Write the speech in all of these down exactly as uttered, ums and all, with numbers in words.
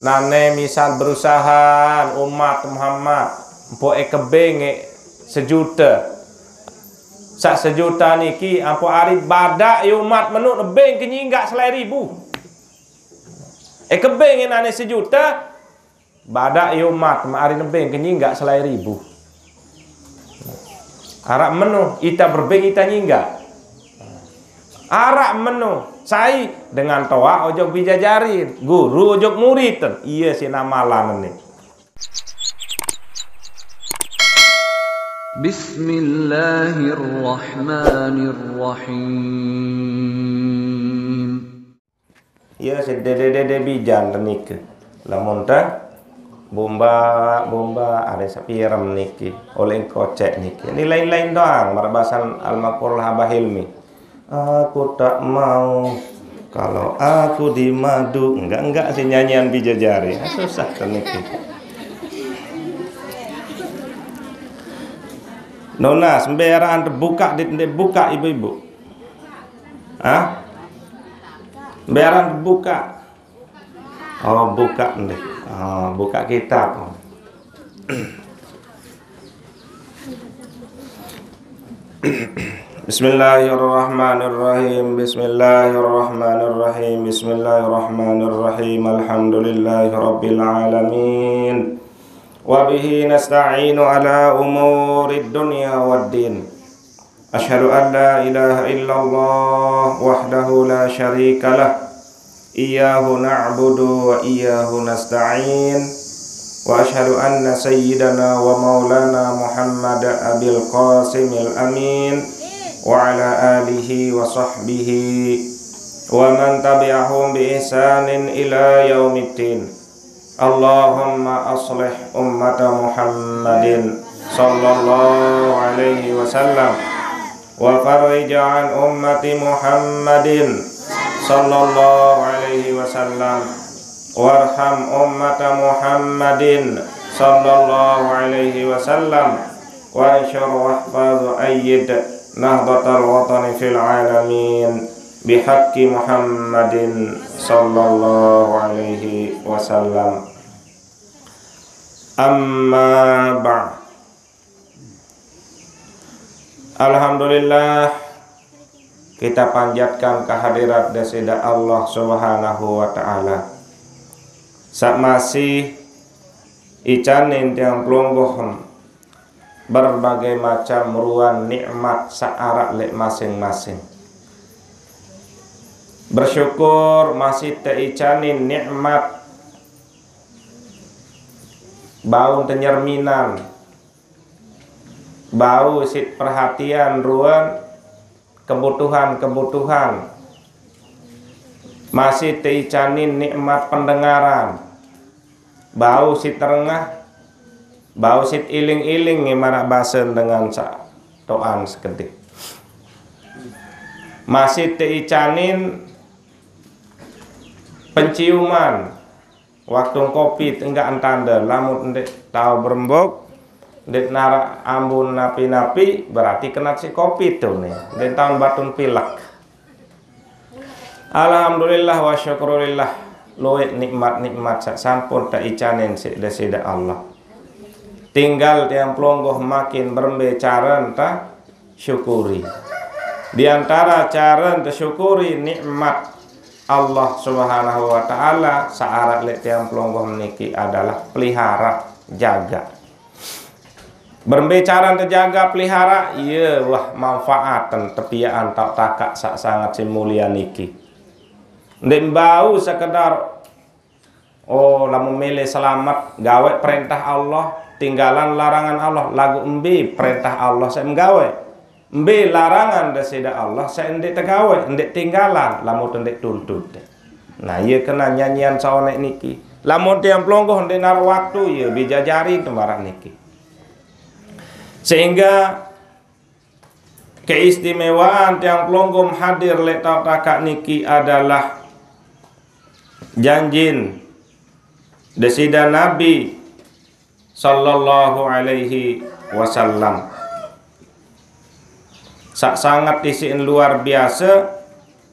Nane misal berusaha umat Muhammad, mpo ekebeng e sejuta. Sak sejuta niki ampo ari badak e umat menu nebeng ke nyinggak selai ribu. Ekebeng e nane sejuta, badak e umat ma ari nebeng ke nyinggak selai ribu. Arak meno ita berebeng ita nyinggak. Arak meno sai dengan toa ojok bijajari, guru ojok murid. Iya si namalan ni. Bismillahirrahmanirrahim. Iya si dede-dede bijan te niki. Lamun te bomba, bomba are sapirem niki. Oleh kocek niki. Ini lain-lain doang marbasan almarhum Abah Hilmi. Aku tak mau kalau aku dimadu. Enggak, enggak si nyanyian bijajari. Ah, susah te niki. Nona, sembarang buka dit, dit buka ibu-ibu. Hah? Sembarang buka. Oh, buka ndeh. Oh, buka kitab. Bismillahirrahmanirrahim. Bismillahirrahmanirrahim. Bismillahirrahmanirrahim. Alhamdulillahirabbil alamin. Wa bihi nasta'inu ala umurid dunya waddin. Asyhadu an la ilaha illallah wahdahu la syarikalah. Iyyahu na'budu wa iyyahu nasta'in. Wa asyhadu anna sayyidana wa maulana Muhammad Abil Qasimil Amin wa ala alihi wa sahbihi wa man tabi'ahum bi ihsanin ila yaumiddin. Allahumma aslih ummata Muhammadin sallallahu alaihi wasallam wa farrij an ummati Muhammadin sallallahu alaihi wasallam warham ummata Muhammadin sallallahu alaihi wasallam wansur wahfaz ayyid Nahdlatal Watani fil alamin bihaqqi Muhammadin sallallahu alaihi wasallam. Amma ba'd. Alhamdulillah, kita panjatkan kehadirat Dasida Allah Subhanahu wa Ta'ala. Sak masih icanin tiang pelungguh berbagai macam ruan nikmat saarak lek masing-masing. Bersyukur masih teicanin nikmat bau tenyerminan, bau sit perhatian ruan kebutuhan-kebutuhan. Masih teicanin nikmat pendengaran, bau sit terengah, bau sit iling-iling nge marak basen dengan sa toan sekedih. Masih teicanin penciuman, waktu covid enggak entande, lamun ndeq tau berembuk, ndeq narak ambun napi-napi, berarti kenat si covid tu ne. Ndeq taun batun pilek. Alhamdulillah wa syukurillah, lueq nikmat-nikmat saq sampun teicanin siq Deside Allah. Tinggal tiang pelungguh makin berembe caren ta syukuri. Di antara caren tesyukuri nikmat Allah Subhanahu wa Ta'ala, saq araq leq tiang pelungguh niki adalah pelihara, jaga. Berembe caren tejaga, pelihara, ie wah manfaaten tepiaqan taoq takaq saq sanget siq mulie niki. Ndeq mbau sekedar, oh, lamun mele selamet, gaweq perentah Allah, tinggalan larangan Allah, laguq mbe perentah Allah saq mgaweq? Mbe larangan Deside Allah saq ndeq tegaweq, ndeq tinggalan, lamun ndeq tuntut? Nah, ie kena nyanyian saoneq niki. Lamun tiang pelungguh ndeq naruq waktu, ie bijajari temaraq niki. Sehingga keistimewaan tiang pelungguh hadir leq taoq takaq niki adalah janjin Deside Nabi sallallahu alaihi wasallam. Saq sanget isiqen luar biase,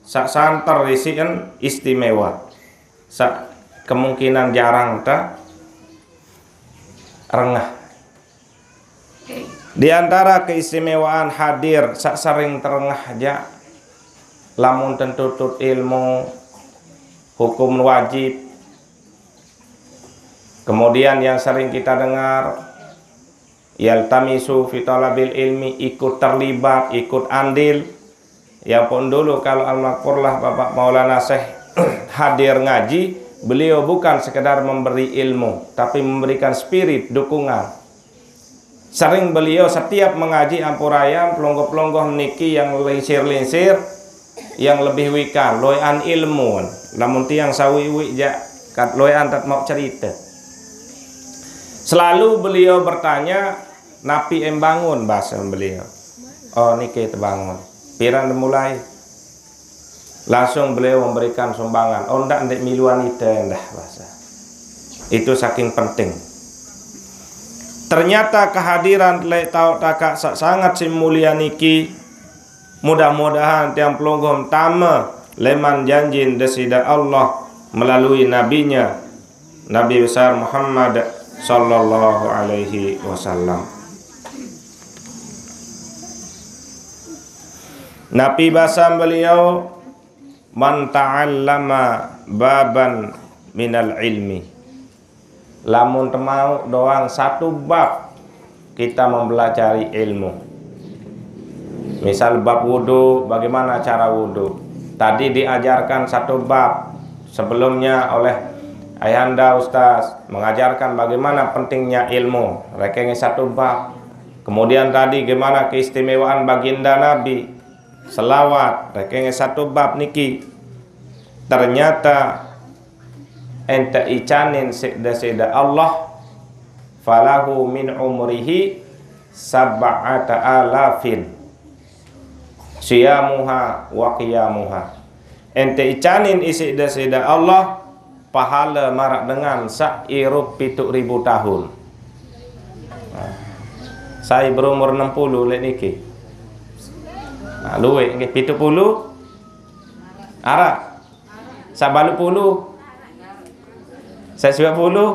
saq santer isiqen istimewa. Saq kemungkinan jarang terengah. Di antara keistimewaan hadir sasering terengah aja, lamun tentu tut ilmu, hukum wajib. Kemudian yang sering kita dengar, yaltamisu fi talabil ilmi, ikut terlibat, ikut andil. Ya pun dulu kalau almarhumlah Bapak Maulana Syekh hadir ngaji, beliau bukan sekedar memberi ilmu, tapi memberikan spirit, dukungan. Sering beliau setiap mengaji ampurayam, pelungguh-pelungguh niki yang lingsir-lingsir, yang lebih wikan, loean ilmu. Lamun tiang sawiwi ja, kat loean tat mau cerita. Selalu beliau bertanya, "Napi em bangun?" bahasa beliau. "Oh, niki tebangun." "Piran mulai?" Langsung beliau memberikan sumbangan. "Oh, ndak, ndak miluan ite ndak," bahasa. Itu saking penting. Ternyata kehadiran lek tau takak sa-, sangat si mulia niki, mudah-mudahan tiang pelungguh tama leman janjin Desida Allah melalui nabinya, Nabi besar Muhammad sallallahu alaihi wasallam. Nabi basam beliau, "Man ta'allama baban minal ilmi." Lamun temau doang satu bab kita mempelajari ilmu. Misal bab wudu, bagaimana cara wudu. Tadi diajarkan satu bab sebelumnya oleh Ayahanda Ustaz, mengajarkan bagaimana pentingnya ilmu. Rekenge satu bab. Kemudian tadi gimana keistimewaan baginda Nabi. Selawat, rekenge satu bab niki. Ternyata ente icanin sida-sida Allah, falahu min umrihi sab'ata alafin siyamuha wa qiyamuha. Ente icanin isida-sida Allah, pahala marak dengan sak irup pitu ribu tahun. Nah, saya berumur enam puluh lek niki. Nah, luwek nggih, pitu puluh. Arak. Sabalu puluh. Saya sembilan puluh.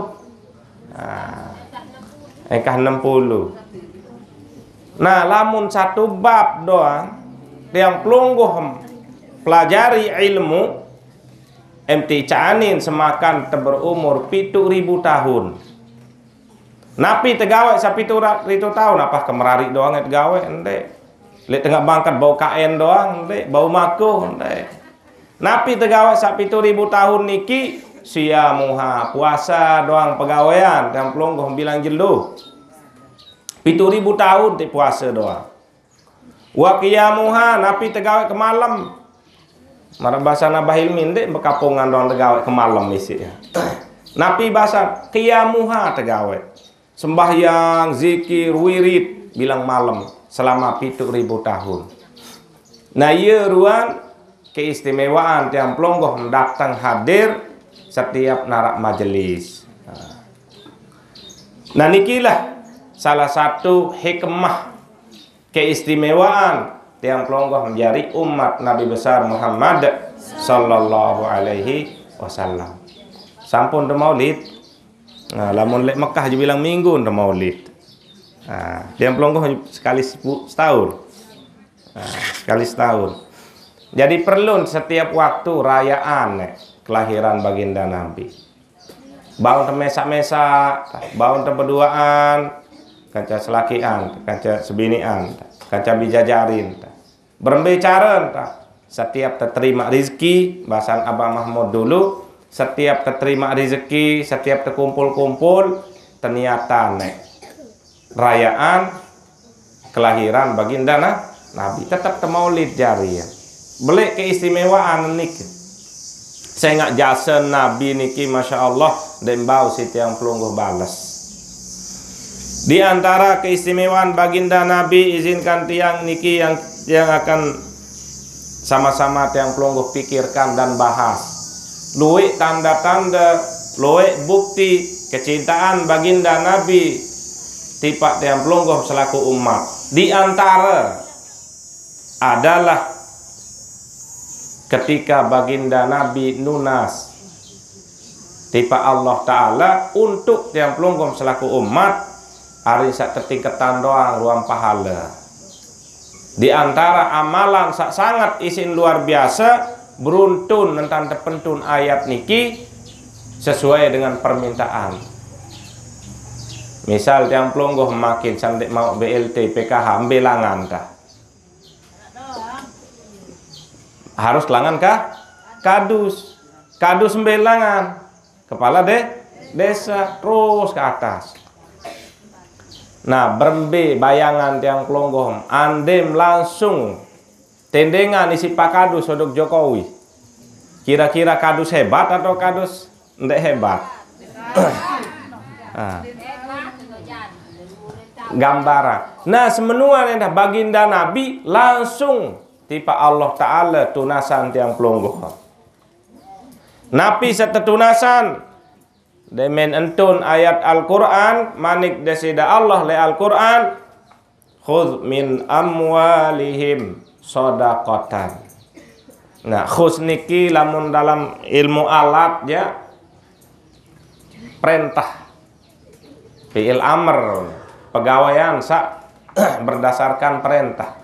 Nah, engkah enam puluh. Nah, lamun satu bab doang, tiang pelungguh pelajari ilmu, ente icanin semakan te berumur pitu ribu tahun. Napi tegawe sapitu ra-, ritu tahun? Apa kemerari doang tegawe? Ende. Lek tengah bangkat bau kaen doang, ende. Bau makuh, ende. Napi tegawe sapitu ribu tahun niki? Siyamuha, puasa doang pegawean, tiang pelungguh bilang jelo. Pitu ribu tahun ti puasa doang. Wa qiyamuha, napi tegawe ke malam? Marah bahasa Nabah Ilmi, nde bekapungan doang tegawe ke malam isi ya. Napi bahasa qiyamuha tegawe. Sembahyang, zikir, wirid, bilang malam selama pitu ribu tahun. Nah, iya ruan keistimewaan tiang pelungguh datang hadir setiap narak majelis. Nah, nikilah salah satu hikmah keistimewaan tiang pelungguh menjadi umat Nabi besar Muhammad sallallahu alaihi wasallam. Sampun te maulid. Nah, lamun lek Mekah je bilang minggu te maulid. Nah, tiang pelungguh sekali sebu-, setahun. Nah, sekali setahun. Jadi perlu setiap waktu rayaan, eh, kelahiran baginda Nabi. Baun te mesak-mesak, baun te beduaan, kanca selakian, kanca sebinian, kanca bijajarin. Berembe cara enta? Setiap te terima rezeki, bahasan Abah Mahmud dulu, setiap te terima rezeki, setiap te kumpul-kumpul, te niatan, eh, rayaan kelahiran baginda na-, Nabi, tetap te maulid jari ya. Belek keistimewaan niki. Sengak jasa Nabi niki, masya Allah, dembau si tiang pelungguh balas. Di antara keistimewaan baginda Nabi, izinkan tiang niki yang, yang akan sama-sama tiang pelungguh pikirkan dan bahas. Luwek tanda-tanda, luwek bukti kecintaan baginda Nabi tipak tiang pelungguh selaku umat. Di antara adalah ketika baginda Nabi nunas Tipa Allah Ta'ala untuk tiang pelungguh selaku umat, ari sak tetingketan doang ruang pahala. Di antara amalan sak sangat isin luar biasa, beruntun nentan tepentun ayat niki sesuai dengan permintaan. Misal tiang pelungguh makin sandik mau B L T, P K H, mbelangan tah. Harus langan kah? Kadus. Kadus mbelangan. Kepala de desa terus ke atas. Nah, berembe bayangan tiang pelungguh, andem langsung tendengan isi Pak Kadus sodok Jokowi. Kira-kira Kadus hebat atau Kadus ndak hebat? Ah. Gambaran. Nah, semenua dah baginda Nabi langsung tipa Allah Ta'ala tunasan tiang pelungguh. Napi setetunasan? Demen entun ayat Al-Quran, manik Desida Allah le Al-Quran, "Khudz min amwalihim shadaqatan." Nah, khudz niki lamun dalam ilmu alat ya, perintah, fi'il amr, pegawaian sak berdasarkan perintah.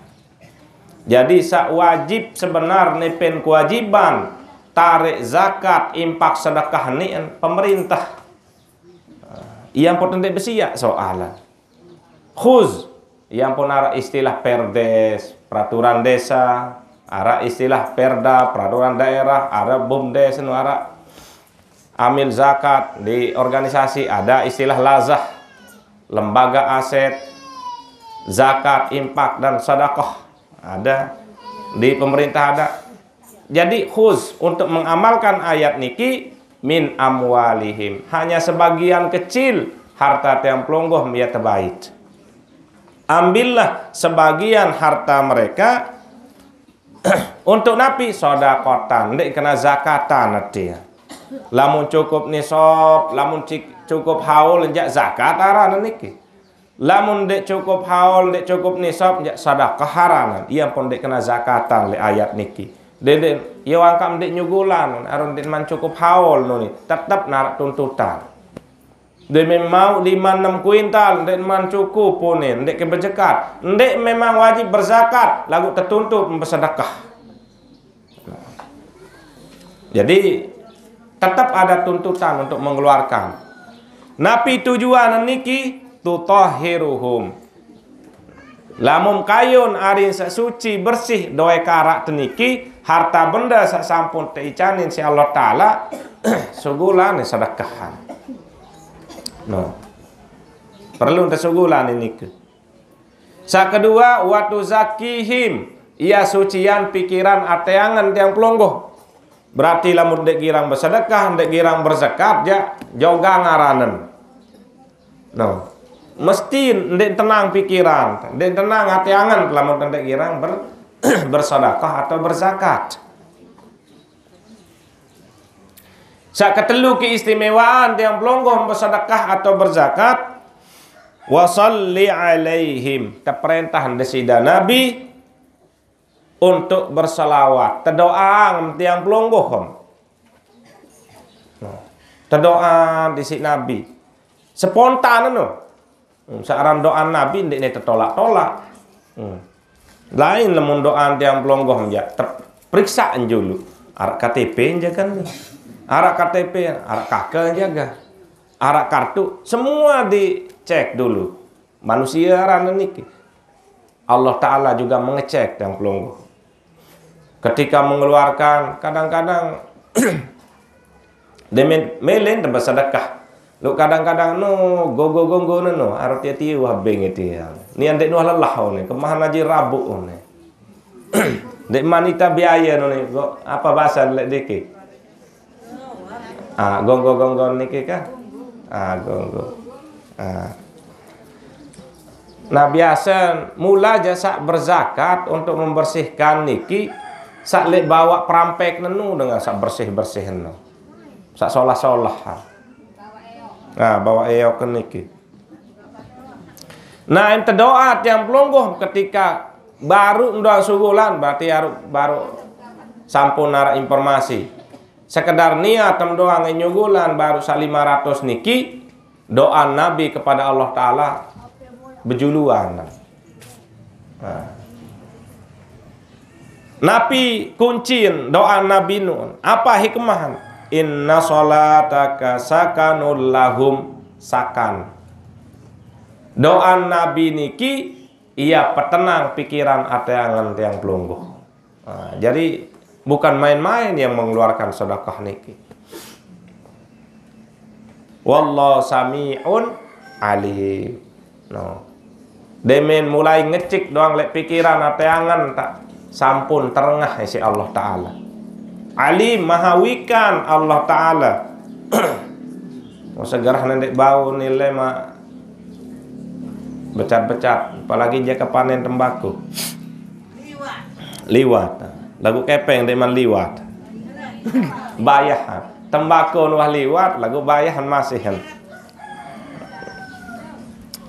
Jadi sak wajib sebenar nepen kewajiban tarik zakat, impak, sedekah ni pemerintah. Ia pun ndak besiak soalan. Khudz, ia pun ara istilah perdes, peraturan desa, ara istilah perda, peraturan daerah, ara bumdes, nu ara amil zakat di organisasi, ada istilah lazah, lembaga aset, zakat, impak, dan sedekah, ada di pemerintah ada. Jadi khudz untuk mengamalkan ayat niki, min amwalihim, hanya sebagian kecil harta tiang pelungguh mia tebait. Ambillah sebagian harta mereka untuk napi? Shadaqatan, ndak kena zakatan arti. Lamun cukup nisab, lamun cik- cukup haul, ndak zakat aranan niki. Lamun ndak cukup haul, ndak cukup nisab, ndak sedekah aranan. Ia pun ndak kena zakatan le ayat niki. Dede, ia wangkam ndak nyugulan, arun ndak man cukup haul nuni, tetap narak tuntutan. Demi mau lima enam kuintal, ndak man cukup pun ni, ndak ke berzakat. Ndak memang wajib berzakat, lagu tertuntut bersedekah. Jadi tetap ada tuntutan untuk mengeluarkan. Napi tujuan niki? Tutahhiruhum. Lamun kayun arin sak suci bersih doe karak teniki, harta benda sak sampun teicanin si Allah Ta'ala, sugulan sedekahan. No. Perlu tesugulan ini ke. Sak kedua, wa tuzakihim, ia sucian pikiran ateangan tiang pelungguh. Berarti lamun dek girang bersedekah, dek girang berzakat, ya, joga ngaranen. No. Mesti ndak tenang pikiran, ndak tenang ateangan lamun ndak girang ber- bersedekah atau berzakat. Sak ketelu keistimewaan tiang pelungguh bersedekah atau berzakat, wa shalli alaihim, teperintah Desida Nabi untuk berselawat, tedoa tiang pelungguh. Nah, tedoa di si Nabi. Spontan no. Hmm, searan doa Nabi ndak ni tertolak-tolak. Hmm. Lain lamun doa tiang pelungguh ya, periksa julu. Arak K T P jaga ni. Arak K T P, arak K K jaga. Arak kartu, semua dicek dulu. Manusia aranan niki. Allah Ta'ala juga mengecek tiang pelungguh. Ketika mengeluarkan, kadang-kadang demen melen tempat sedekah. Lu kadang-kadang no gogo gonggo no, no, arti ati wah beng itu ya. Ni andek nuah lelah ni, kemahan aja rabuk ni. Dek manita biaya no ni, go- apa bahasa lek dikit? Ah, gonggo-gonggo niki kah? Ah, gonggo. Ah. Nah, biasa mula aja sak berzakat untuk membersihkan niki, sak lek bawa perampek nenu dengan sak bersih-bersih nenu. Sak solah-solah. Nah, bawa eok niki. Nah, ente doa tiang pelungguh ketika baru ndoa subulan, berarti baru, baru sampun narak informasi. Sekedar niat tem doang nyugulan baru sa lima ratus niki, doa Nabi kepada Allah Ta'ala bejuluan. Nah. Napi kuncin doa Nabi nun? Apa hikmah? "Inna salataka sakanul lahum." Sakan. Doa Nabi niki, ia petenang pikiran ate angen tiang pelungguh. Nah, jadi bukan main-main yang mengeluarkan sedekah niki. Wallahu sami'un alim. No. Demen mulai ngecek doang lek pikiran ate angen tak sampun terengah isi Allah Ta'ala. Alim, maha wikan Allah Ta'ala. Mau segerah nendek bau nilai mak becat-becat, apalagi jaka panen tembakau. Liwat. Lagu kepeng demen liwat. Bayah. Tembakau wah liwat, lagu bayahan masihan.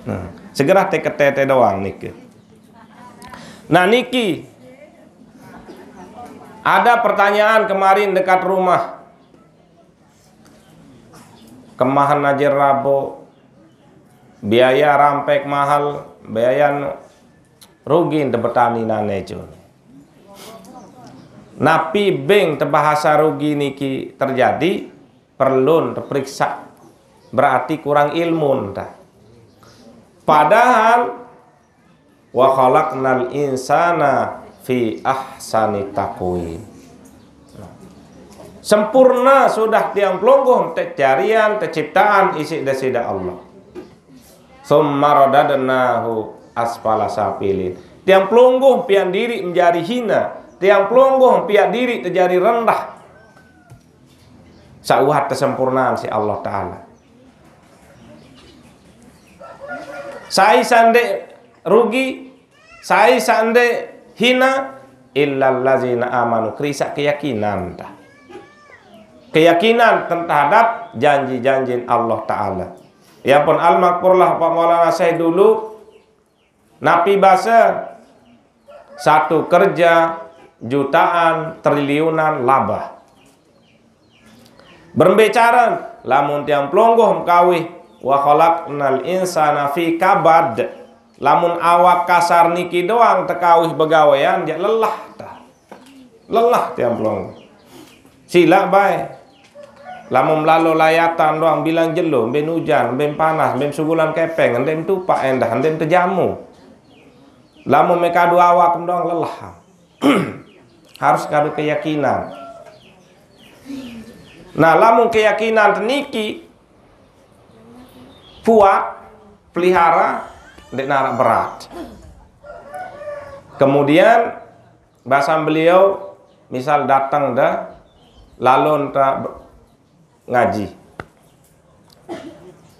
Nah, segera te ketete doang niki. Nah, niki ada pertanyaan kemarin dekat rumah. Kemahan aja rabo, biaya rampek mahal, biaya anu, rugi ente betani nane, Jun. Napi beng tebahasa rugi niki terjadi, perlu teperiksa. Berarti kurang ilmu ente. Padahal, "Wa khalaqnal insana fi ahsani taqwim." Sempurna sudah tiang pelungguh tejarian, teciptaan isi desida Allah. "Tsumma radadnahu asfala safilin." Tiang pelungguh pian diri menjadi hina. Tiang pelungguh pian diri terjadi rendah. Sauhat kesempurnaan si Allah Ta'ala. Sai sande rugi, sai sande hina, illallazina amanu, kerisa keyakinan ta. Keyakinan terhadap janji-janji Allah Ta'ala. Ya pun almakfurlah Pak Maulana saya dulu, napi basa satu kerja jutaan triliunan laba. Berembe cara lamun tiang pelungguh mekawih, "Wa khalaqnal insana fi kabad." Lamun awak kasar niki doang tekawih begawean, jak lelah ta. Lelah tiang pelungguh. Sila bae. Lamun melalo layatan doang bilang jelo, ben ujan, ben panas, ben sugulan kepeng, endem tupak endah, endem tejamu. Lamun mekadu awak doang lelah. Harus kadu keyakinan. Nah, lamun keyakinan teniki kuat, pelihara, ndeq narak berat. Kemudian, basan beliau, misal dateng de, lalon te ngaji.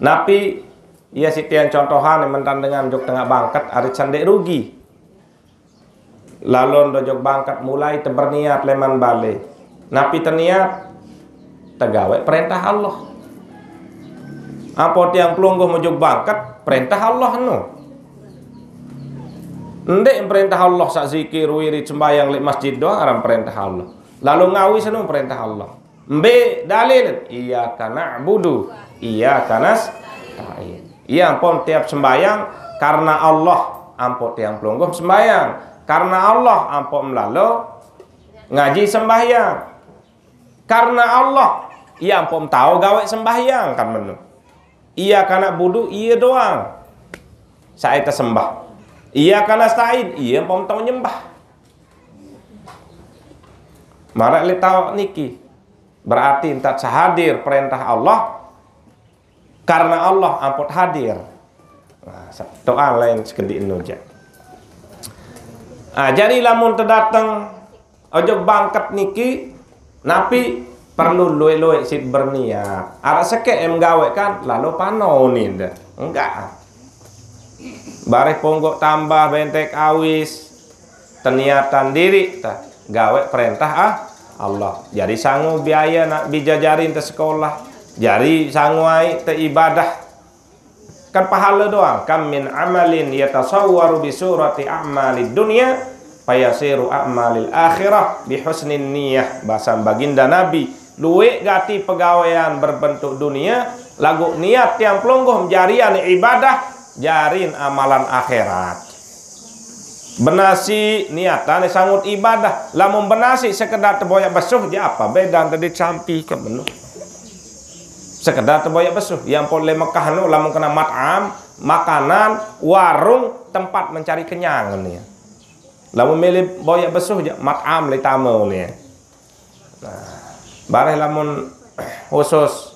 Napi, ia sitian contohan mentan dengan jok tengah bangket, arit sandek rugi. Lalon dojok bangket mulai te berniat leman bale. Napi teniat? Tegawe perintah Allah. Apo tiang pelungguh mojok bangket, perintah Allah no. Ndeq perintah Allah sak zikir, wirid, sembayang leq masjid doang aran perintah Allah. Lalu ngawi seno perintah Allah. Mbe dalil? Iyyaka na'budu, iyyaka nasta'in. Ia ampun tiap sembahyang karena Allah, ampun tiang pelungguh sembahyang. Karena Allah, ampun melalo ngaji sembahyang. Karena Allah, ia ampun tao gawe sembahyang kan menu. Iyyaka na'budu, ia doang. Saya tersembah. Iyyaka nasta'in, ia ampun tao nyembah. Maraq leq taoq niki. Berarti entat sehadir perintah Allah, karena Allah amput hadir. Nah, sa-, doa lain sekediq enu jaq. Ah, jari lamun tedateng ojok bangket niki, napi perlu lueq-lueq sit berniat. Araq sekeq em gaweq kan, lalu pano ninde. Enggak. Bareh ponggok tambah bentek awis. Teniatan diriq ta gaweq perentah, ah, Allah. Jari sangu biaye nak bijajarin te sekolah, jari sangu aiq te ibadah. Kan pahale doang. "Kam min amalin yatasawwaru bi surati a'malid dunya fayasiru a'malil akhirah bi husnin niyah." Basan baginda Nabi, Lueq gati pegawean berbentuk dunie, laguq niat tiang pelungguh jarian ibadah, jarin amalan akhirat. Benasi niatane sangut ibadah. Lamun benasi sekedar teboyaq besuh, jaq apa bedan tadi sampi ke menu. Sekedar teboyaq besuh. Yang pun le Mekah nu, lamun kena mat'am, makanan, warung, tempat mencari kenyang ni. Lamun mele boyaq besuh jaq mat'am le tame ni. Nah, bareh lamun khusus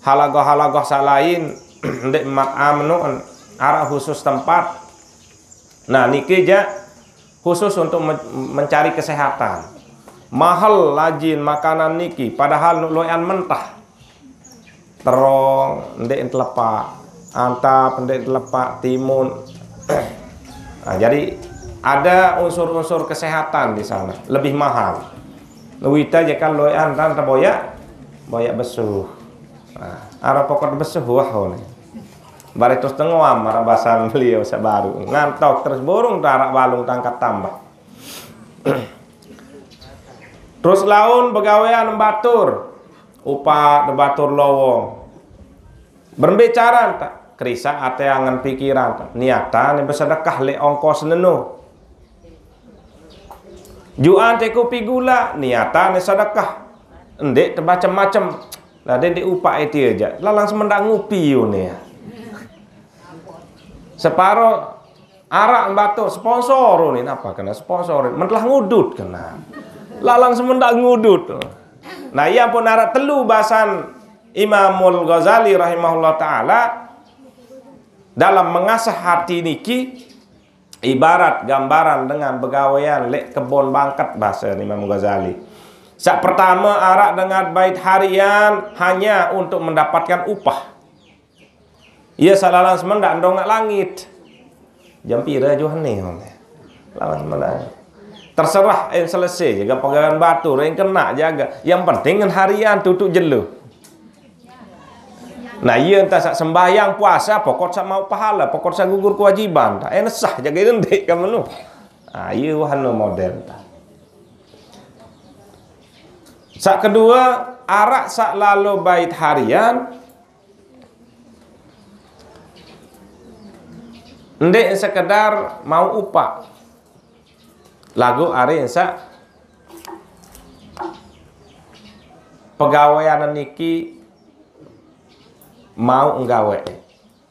halagoh-halagoh saq lain, ndeq mat'am nu, araq khusus tempat. Nah, niki jaq khusus untuk men-, mencari kesehatan. Mahel lajin makanan niki, padahal nuq loeqan mentah. Terong, ndeq telepaq. Antap, ndeq telepaq. Timun. Nah, jadi ada unsur-unsur kesehatan di sana, lebih mahal. Wite jaq kan loeqan tan teboyaq, boyaq besuh. Nah, araq pokok besuh, wah, ni. Bareh terus tengoam, araq basan beliau saq baru. Ngantok terus burung araq balung tangkat tambah. Terus laun begawean batur, upaq de batur lowong. Berembe caran taq? Kerisaq ate angen pikiran taq. Niatan besedekah leq ongkos nenu. Juan te kupi gulaq, niatan sedekah. Ndeq tebacem-macem. Lah, ndeq upaq ite jaq. Lalang semendaq ngupi une. Separo araq batur sponsor une, napa kena sponsor? Mentelah ngudut kena. Lalang semendaq ngudut. Nah, iya pun araq telu basan Imamul Ghazali rahimahullah taala dalam mengasah hati niki ibarat gambaran dengan begawean leq kebon bangket, base Imam Ghazali. Saq pertame araq dengan bait harian hanya untuk mendapatkan upah. Ie saq lalang semendaq ndongaq langit. Jam pire ajuh ne? Lalang semendaq. Terserah, en selese jage pegawean batur, en kena jage. Yang penting ngen harian tutuq jelo. Nah, ie entah saq sembahyang, puasa, pokok saq mauq pahala, pokok saq gugur kewajiban. Tah, en sah jage ndeq kan menu. Ah, ie wah anu model tah. Saq kedue, araq saq lalo bait harian, ndeq sekedar mauq upaq. Laguq are saq pegawean niki mauq nggaweq.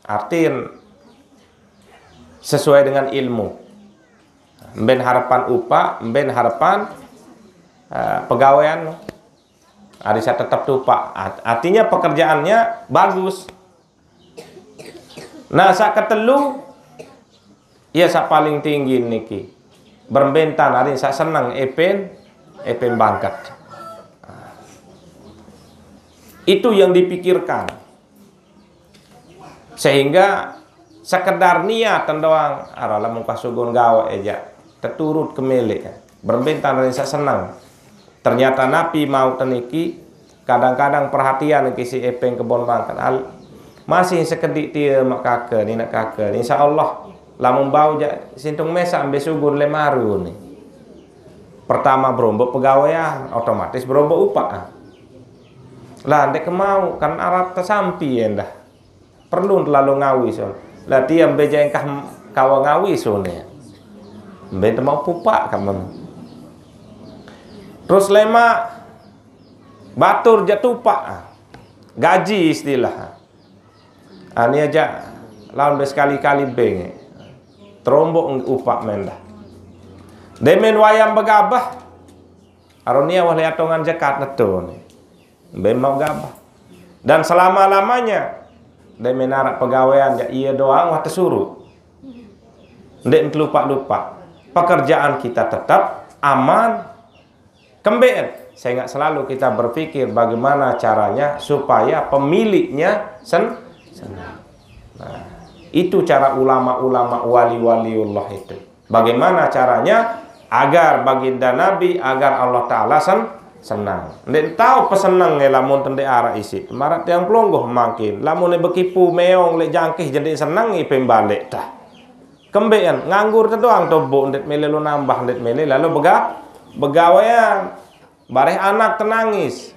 Artin sesuai dengan ilmu. Mben harepan upaq, mben harepan, eh, pegawean. Ari saq tetep tupaq. Art-, artinya pekerjaannya bagus. Nah, saq ketelu, ya, saq paling tinggi niki. Berembe tan ari saq seneng epen, epen bangket. Itu yang dipikirkan. Sehingga sekedar niat doang, araq lamun pas sugun gaweq ejaq, teturut kemeleq. Berembe tan ari saq seneng. Ternyata napi mauq teniki, kadang-kadang perhatian niki siq epeng kebon bangket. Al-, masih sekediq tie maq kake, nineq kake. Insya Allah, lamun bau jaq sintung mesaq mbe sugun le maru ni. Pertama beromboq pegawean, otomatis beromboq upaq. Lah, ndeq kemauq, kan araq tesampi endah. Perlu telalu ngawis. Lah, tie mbe jaq engkah kawa ngawis, one. Mbe temauq pupaq kamen. Terus lemaq batur jaq tupaq. Gaji istilah. Ani aja laun be sekali-kali beng. Teromboq upaq mendah. Demen wayang begabah. Aronia wah leatongan jekat neto ni. Mbe mauq gabah. Dan selama-lamanya, ndeq men araq pegawean jaq ie doang wah tesuruq. Ndeq telupak-lupak. Pekerjaan kita tetap aman. Kembeqn, sengaq selalu kita berpikir bagaimana caranya supaya pemiliknya sen-, senang. Nah, itu cara ulama-ulama wali-waliullah itu. Bagaimana caranya agar baginda Nabi, agar Allah Taala sen-, senang. Ndeq tao peseneng e lamun tendeq araq isiq. Maraq tiang pelungguh mangkin. Lamun e bekipu meong leq jangkih jendeq seneng, ipem baleq tah. Kembeqn, nganggur te doang toboq, ndeq mele lo nambah, ndeq mele lalo bega-, begawean. Bareh anak tenangis.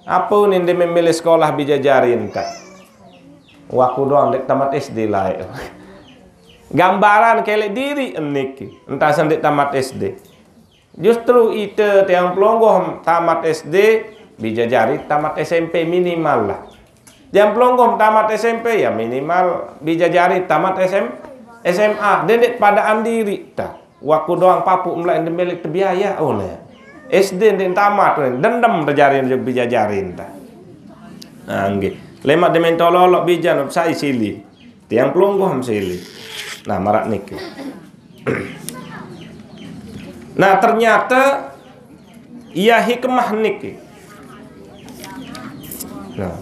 Ape ni ndeq memilih sekolah bije jari ente? Waku doang ndeq tamat S D laeq. Gambaran keleq diriq niki, ente asen ndeq tamat S D. Justru ite tiang pelungguh tamat S D, bije jari tamat S M P minimal lah. Tiang pelungguh tamat S M P, ya minimal bije jari tamat S M, S M A. Ndeq, ndeq padaan diriq ta. Waku doang papuq meleq ndeq meleq tebiaya, oh, ne. S D ndeq tamat, dendem te jari bije jari ente. Nah, nggih. Lemaq demen tololoq bijan sai sili. Tiang pelungguh sili. Nah, maraq niki. Nah, ternyata iya hikmah niki. Nah.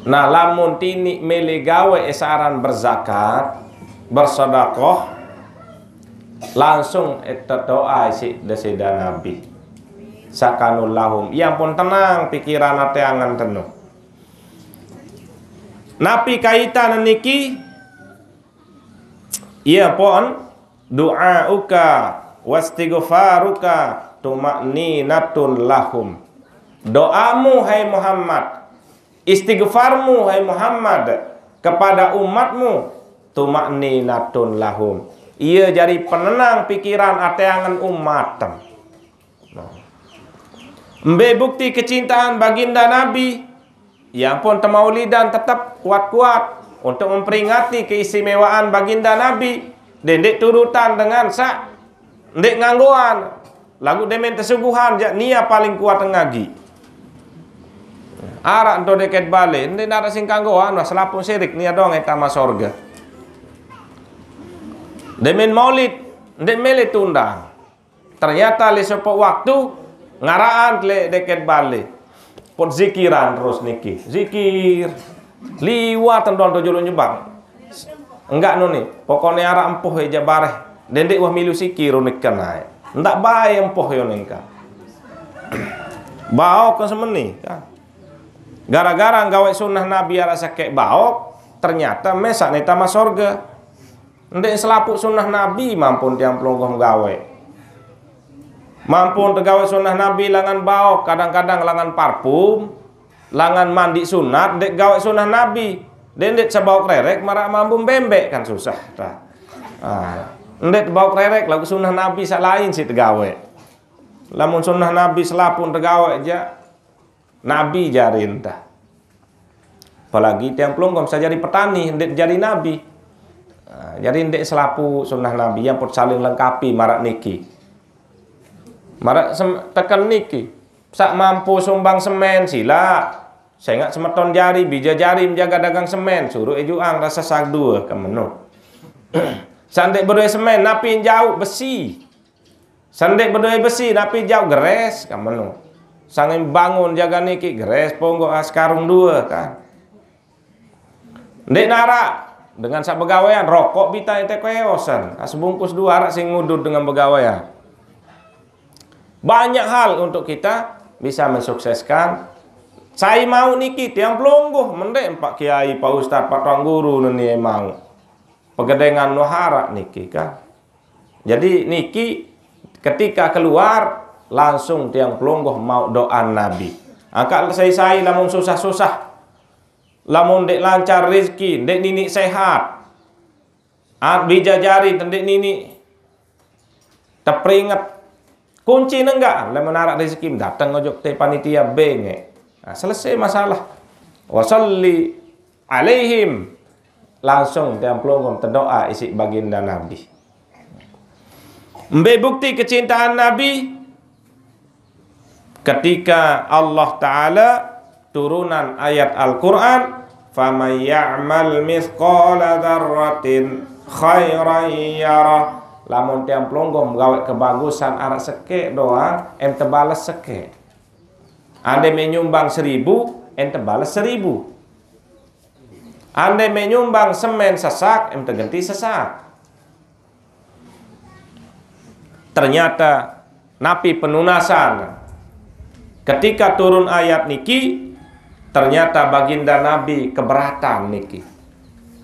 Nah, lamun tiniq mele gawe esaran berzakat, bersedekah, langsung ete doa isiq Deside Nabi. Sakanul lahum. Iya pun tenang pikiran ate angen tenu. Napi kaitan niki? Iya pun, du'auka wastighfaruka tuma'ninatun lahum. Doamu, hai Muhammad, istighfarmu, hai Muhammad, kepada umatmu, tuma'ninatun lahum. Iya jari penenang pikiran ate angen umatem. Mbe bukti kecintaan Baginda Nabi? Ya ampun, temaulidan tetep kuat-kuat untuk memperingati keistimewaan Baginda Nabi. Dendeq turutan dengan saq ndeq nganggoan. Laguq demen tesuguhan, jaq nia paling kuat ngagi. Araq ento deket bale, ndeq naraq sing kanggoan, wah, selapuq sirik, nia doang tama sorge. Demen maulid, ndeq mele tundang. Ternyata leq sopoq waktu ngaraqan leq deket bale. Pot zikiran terus niki. Zikir. Liwat tendon to juluq nyebak. Enggak no ni. Pokokne araq empoh eja bareh. Dendeq wah milu sikir unikan ae. Ndak bae empoh yo nengka. Baok ke semeni, kan. Gara-gara gawe sunnah Nabi araq sekeq baok, ternyata mesaq ne tama sorge. Ndeq selapuq sunnah Nabi mampun tiang pelungguh gawe. Mampun tegawe sunnah Nabi langan baok, kadang-kadang langan parfum, langan mandi sunat, ndeq gawe sunnah Nabi. Ndeq, ndeq sebaok rerek maraq mambun bembeq kan susah. Tah. Ah. Ndeq baok rerek laguq sunnah Nabi saq lain siq tegawe. Lamun sunnah Nabi selapuq tegawe jaq, Nabi jari ente. Apalagi tiang pelungguh saq jari petani, ndeq jari nabi. Nah, jari ndeq selapuq sunnah Nabi, yang pot saling lengkapi maraq niki. Maraq sem-, teken niki. Saq mampu sumbang semen, silaq. Sengaq semeton jari, bije jari menjaga dagang semen, suruq ejuang rase saq due, kemeno. Saq ndeq bedoe semen, napi jauq besi. Sendeq bedoe besi, napi jauq geres, kemeno. Sange bangun jaga niki, geres ponggoq, ah, sekarung due, kan. Ndeq naraq dengan saq begawean, rokok bita ente koe osen, ah, sebungkus due araq sing ngudut dengan begawean. Banyak hal untuk kita bisa mensukseskan. Sai mauq niki, tiang pelungguh, mendeq Pak Kiai, Pak Ustaz, Pak Tuan Guru neni mauq. Pegedengan wah araq niki, kan. Jadi niki ketika keluar, langsung tiang pelungguh mauq doan Nabi. Angkaq sai-sai lamun susah-susah, lamun ndeq lancar rezeki, ndeq niniq sehat, at bija jari ndeq niniq teperinget. Kunci nenggak, lamun araq rezeki dateng ojok te panitia bengek. Nah, selesai masalah. Wa shalli alaihim. Langsung tiang pelungguh tedoa isiq baginda Nabi. Mbe bukti kecintaan Nabi? Ketika Allah Ta'ala turunan ayat Al-Quran, "Faman ya'mal mithqala dzarratin khairan yarah." Lamun tiang pelungguh gaweq kebagusan araq sekeq doang, em tebales sekeq. Ande meq nyumbang seribu, em tebales seribu. Ande meq nyumbang semen sesak, em tegenti sesak. Ternyata napi penunasan? Ketika turun ayat niki, ternyata baginda Nabi keberatan niki.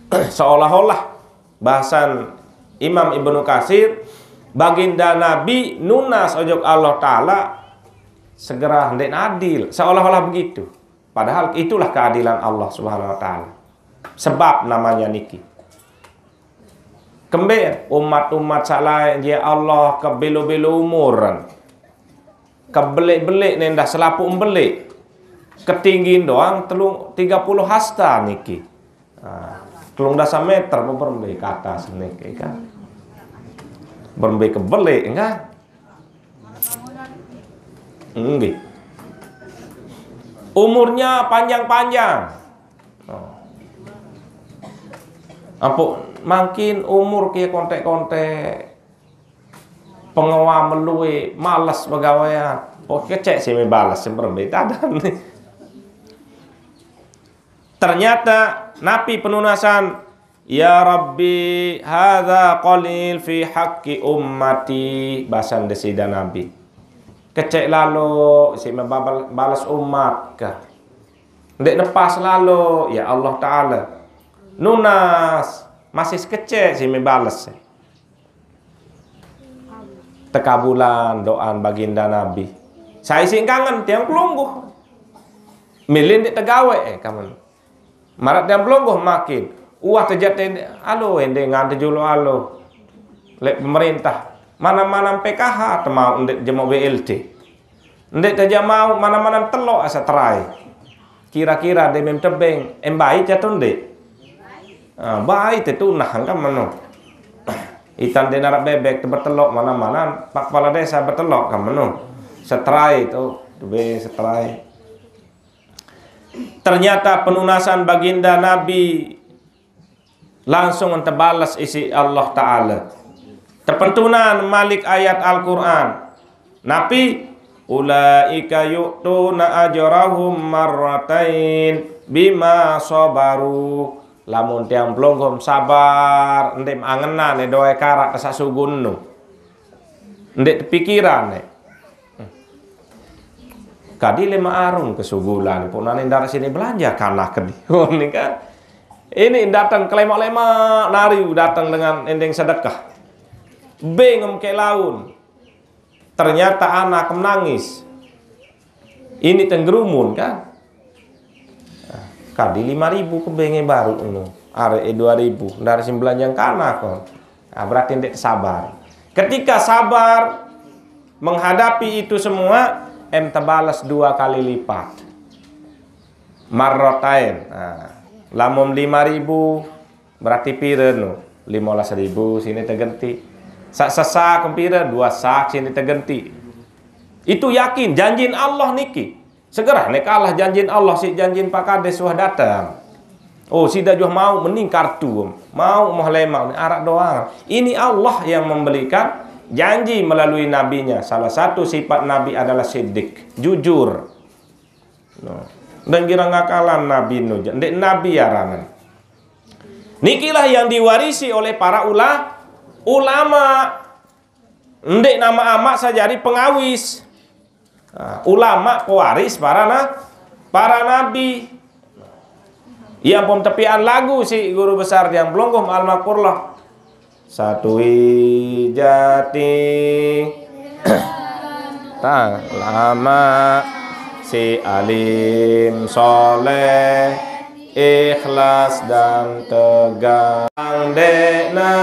Seolah-olah bahasan Imam Ibnu Katsir, Baginda Nabi nunas ojok Allah Ta'ala segera ndeq adil, seolah-olah begitu. Padahal itulah keadilan Allah Subhanahu wa Ta'ala. Sebab namanya niki. Kembe umat-umat saq lain, ya Allah, kebelo-belo umuran. Kebeleq-beleq nendah selapuq beleq. Ketinggian doang telung, tiga puluh hasta niki. Ah, telung dasa meter apa berembe ke atas niki kan. Berembe kebeleq enggak? Nggih. Umurnya panjang-panjang. Oh. Ampun, makin umur ke kontek-kontek, pengewa melue, males begawean. Pokoknya kecek sih me bales, sih berembe tadan. Ternyata napi penunasan, "Ya Rabbi, hadza qalil fi haqqi ummati," basan Desida Nabi. Kecek lalo, si me babal-, bales umat kah. Ndeq nepas lalo, ya Allah Ta'ala. Nunas, masih kecek si me bales. Tekabulan doan Baginda Nabi. Sai sing kangen tiang pelungguh. Milin ndeq tegawe, eh, kamen. Marat tiang pelungguh makin. Uah tejat ende, alo, ende ngante julu alo. Leq pemerintah. Manam-manam P K H temau ndeq jemok B L T. Ndeq tejamau manam-manam telok asa terai. Kira-kira de mem tebeng, em bai jatuh ndeq? Ah, bai te tunah kan meno. Itan de narap bebek te betelok manam-manam, pak kepala desa betelok kan meno. Seterai tu, tebe seterai. Ternyata penunasan Baginda Nabi langsung tebales isiq Allah Ta'ala. Tepentunan malik ayat Al-Qur'an. Napi? "Ulaika yu'tuna ajrahum marratain bima sabaru." Lamun tiang pelungguh sabar, ndeq angenan doe karak saq sugunnu. Ndeq tepikiran, eh. Kadi lima arung kesugulan, punane ndaraq sini belanja kanak kedi. Oh, ini kan. Ini datang kelemaq-lemaq nari datang dengan endeng sedekah. Beng em ke laun. Ternyata anak menangis. Ini tenggerumun kan. Kadi lima ribu kebenge baru eno. Arek e dua ribu, ndaraq sing belanjang kanak kok. Nah, berarti ndeq sabar. Ketika sabar menghadapi itu semua, em tebales dua kali lipat. Marrotain. Nah, lamun lima ribu, berarti pire no? Lima belas ribu sini tegenti. Saq sesak pire? Dua sak sini tegenti. Itu yakin, janjin Allah niki. Segera nek kalah janjin Allah, si janjin Pak Kades wah dateng. Oh, sida juh mau meningkar tu, mau moh lemaq, araq doang. Ini Allah yang memberikan janji melalui nabinya. Salah satu sifat Nabi adalah siddiq, jujur. No. Dan kira ngakalan Nabi Nuh, ndeq Nabi aranan. Nikilah yang diwarisi oleh para ula-, ulama. Ndeq nama amaq saq jari pengawis. Nah, ulama pewaris para na-, para nabi. Yang pom tepian lagu si guru besar yang belonggom almakurlah. Satui jati. Tang lama si alim soleh, ikhlas dan tegang. Deqna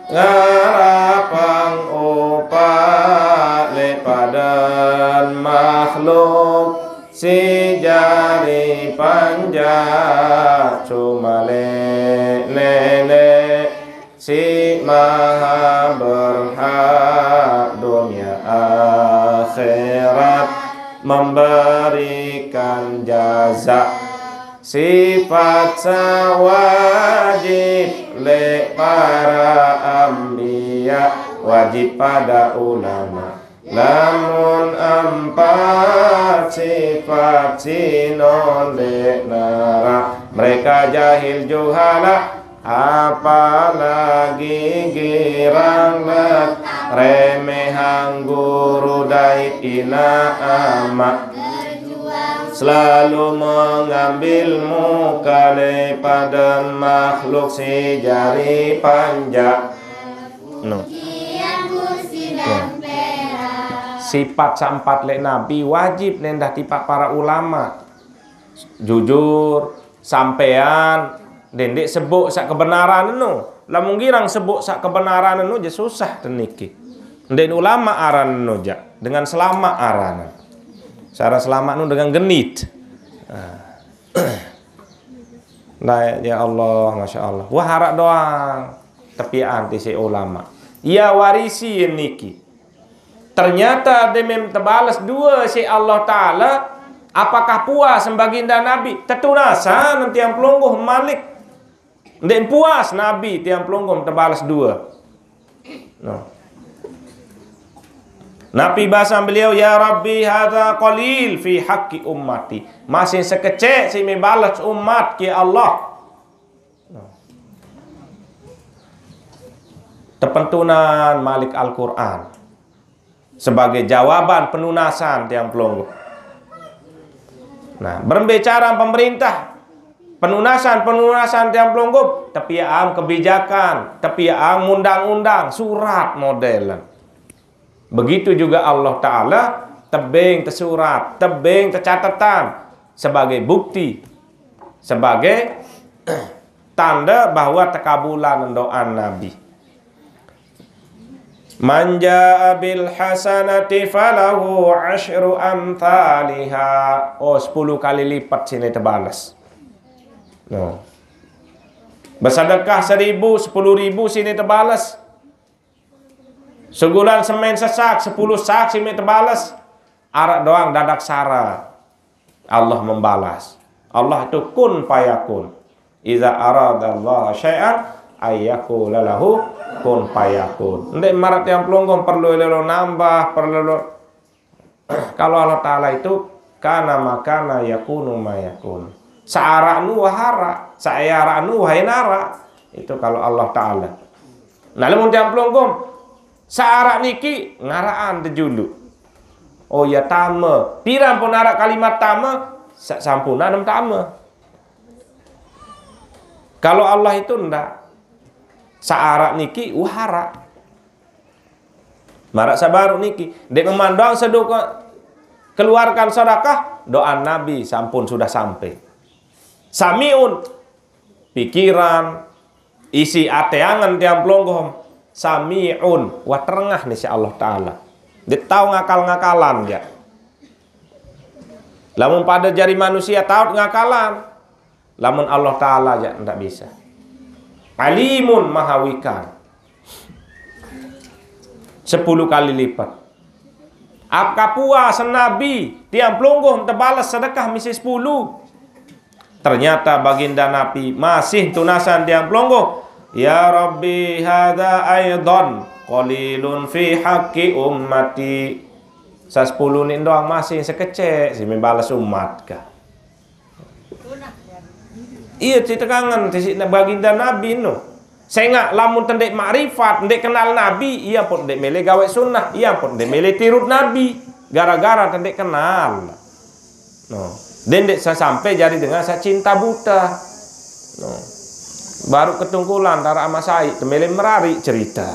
ngarapang upaq leq paden makhluk, si jari panjak cuma leq Neneq, si maha berhak dunia akhirat memberikan jaza. Sifat saq wajib leq para anbiya, wajib pada ulama. Lamun empat sifat sino ndeq naraq, mereka jahil juhala, apalagi girang let, remehang guru dait inaq amaq. Selalu mengambil muka leq paden makhluk si jari panjak. No. Sifat saq empat leq Nabi wajib nendah tipaq para ulama. Jujur, sampean, ndeq, ndeq sebuk saq kebenaran enu. Lamun girang sebuk saq kebenaran enu, je susah teniki. Ndeq ulama aran enu jaq, dengan selamaq aran. Syarat selamaq enu dengan genit. Nah. Nah, ya Allah, Masya Allah. Wah, araq doang tepiaqan tisiq ulama. Ia warisi niki. Ternyata demen tebales due siq Allah Taala, apakah puas baginda Nabi? Tetunasan tiang pelungguh malik. Ndeq puas Nabi tiang pelungguh tebales due. No. Napi basan beliau, "Ya Rabbi, hadza qalil fi haqqi ummati." Masih sekecek siq me bales umat ke Allah. No. Tepentunan malik Al-Quran sebagai jawaban penunasan tiang pelungguh. Nah, berembe cara pemerintah penunasan-penunasan tiang pelungguh, tepiaqan kebijakan, tepiaqan undang-undang, surat model. Begitu juga Allah Taala, tebeng tesurat, tebeng tecatetan sebagai bukti, sebagai tanda bahwa tekabulan doa Nabi. "Man jaa bil hasanati falahu asyru amthaliha." Oh, sepuluh kali lipat sine tebales. No. Besedekah seribu, sepuluh ribu sine tebales. Segulan semen sesak, sepuluh sak sine tebales. Araq doang dadak sara. Allah membalas. Allah itu kun fayakun. Iza arada Allah syai'an ayyakula lahu kun fayakun. Ndeq maraq tiang pelungguh perlu lelo nambah, perlu lelo. Kalau Allah Taala itu kana makana yakunu mayakun. Searaq nu wah araq, searaq nu wah enaraq. Itu kalau Allah Taala. Nah, lamun tiang pelungguh, searaq niki ngaraqan tejulu. Oh ya, tame. Piran pun araq kalimat tame, sa-, sampunan tame. Kalau Allah itu ndak. Searaq niki wah araq. Maraq saq baruq niki, ndeq memandang sedoke keluarkan sedekah, doa Nabi sampun sudah sampai. Samiun, pikiran, isi ate angen tiang pelungguh, samiun, wah terengah ni siq Allah Taala. Ndeq tao ngakal-ngakalan, ya. Lamun pade jari manusie taoq ngakalan, lamun Allah Taala jaq ndaq bisa. Alimun, maha wikan. Sepuluh kali lipat. Apakah puas Nabi tiang pelungguh tebales sedekah misi sepuluh? Ternyata baginda Nabi masih tunasan tiang pelungguh. Ya Rabbi, hadza aidan qalilun fi haqqi ummati. Saq sepuluh ni doang masih sekecek, sime bales umat kah. Iya, cerite kangen, tisiq baginda Nabi no. Sengaq lamun tendeq makrifat, ndeq kenal Nabi, ia pun ndeq mele gaweq sunnah, ia pun ndeq mele tirut Nabi. Gara-gara tendeq kenal. No. Ndeq, ndeq sa-, sampai jari dengan saq cinta buta. No. Baruq ketungkulan, taraq ama sai, temele merariq cerite.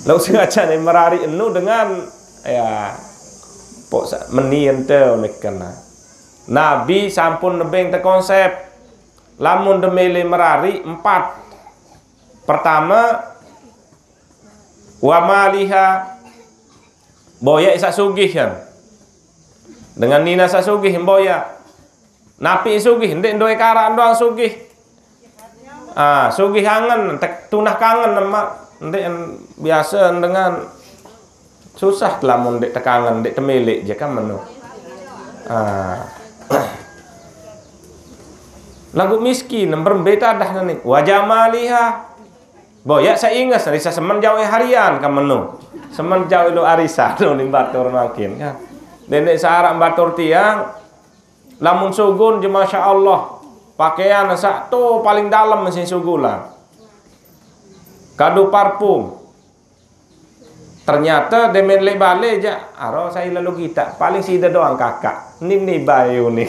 Laguq sengaja ne merariq enu dengan, ya, pok sa-, meni ente unik kena. Nabi sampun nebeng tekonsep. Lamun temele merariq, empat. Pertame, wa maliha, boyaq saq sugih, kan. Dengan nine saq sugih, boyaq. Napi sugih, ndeq ndoe karaq doang sugih. Ah, sugih angen, tek-, tunah kangen, Mak. Ndeq en-, biase dengan susah lamun ndeq tekangen, ndeq temeleq je kan meno. Ah. Laguq miskin, berembe tadah nani. Wa jamaliha. Boyaq saq inges, risa semen jauq harian kan meno. Semen jauq lo arisan, lo ni batur makin, kan. Ndeq saq araq batur tiang, lamun sugun je, Masya Allah. Pakaian saq to paling dalem sing sugulan. Kadu parfum. Ternyate demen leq bale jaq, aro sai lalo gitaq. Paling side doang kakak. Nini bae uni.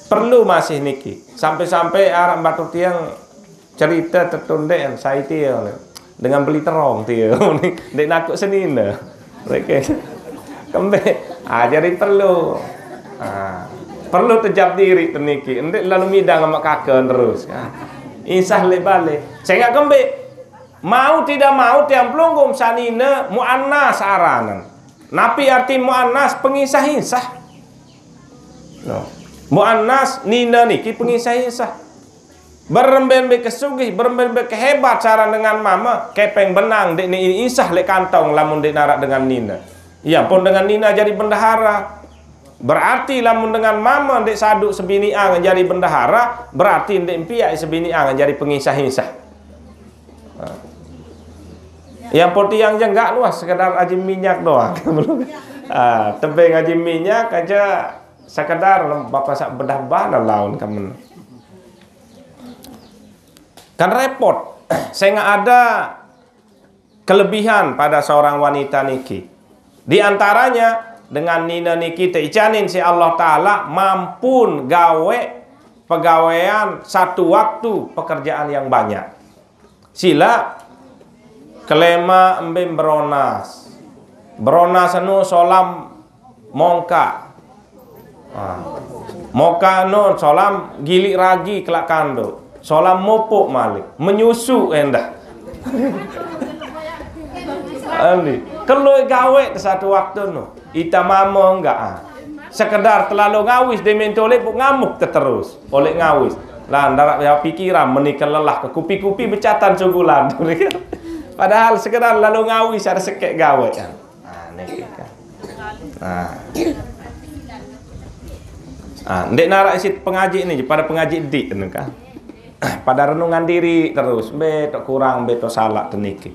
Perlu masih niki. Sampai-sampai araq batur tiang cerite tetundeqan sai tiang. Dengan beli terong dia. Ndeq nakuk senine. Oke. Kembeq. Ah, jari perlu. Ah, perlu tejap diri teniki. Ndeq lalu midang sama kake terus. Ah. Insah leq bale. Sengaq kembeq. Mau tidak mau tiang pelungguh senine muannas aranen. Napi arti muannas? Pengisah-isah. No. Muannas nine niki pengisah-isah. Berembe-embe kesugih, berembe-embe kehebat saran dengan mame, kepeng benang ndeq ni isah leq kantong lamun ndeq naraq dengan nine. Iya pun dengan nine jari bendahara. Berarti lamun dengan mame ndeq saduk sebiniang jari bendahara, berarti ndeq mpiaq sebiniang jari pengisah-isah. Nah. Yang putih yang jenggak wah sekedar aji minyak doang. Ah, tebeng aji minyak aja sekedar bapak sak bedah bana laun kamen. Kan repot. Sengaq ada kelebihan pada seorang wanita niki. Di antaranya dengan nine niki teicanin siq Allah Taala mampun gawe pegawean satu waktu pekerjaan yang banyak. Sila kelema embe beronas. Beronas anu solam mongkaq. Ah. Mokaq nun solam gilik ragi kelaq kanduk. Solam mupuk malik. Menyusu endah. Andi. Kelui gawe satu waktu nu. Ita mamo enggak ah. Sekedar telalu ngawis demen tolek buk ngamuk teterus. Oleh ngawis. Lah ndaraq ya pikiran menikah lelah ke kupi-kupi becatan sugulan. Padahal sekedar lalu ngawis ada sekek gawe kan. Ah, niki kan. Ah. Ah, ndeq naraq isit pengaji ni, pada pengaji dik ni kan. Pada renungan diri terus, mbe tok kurang, mbe tok salaq teniki.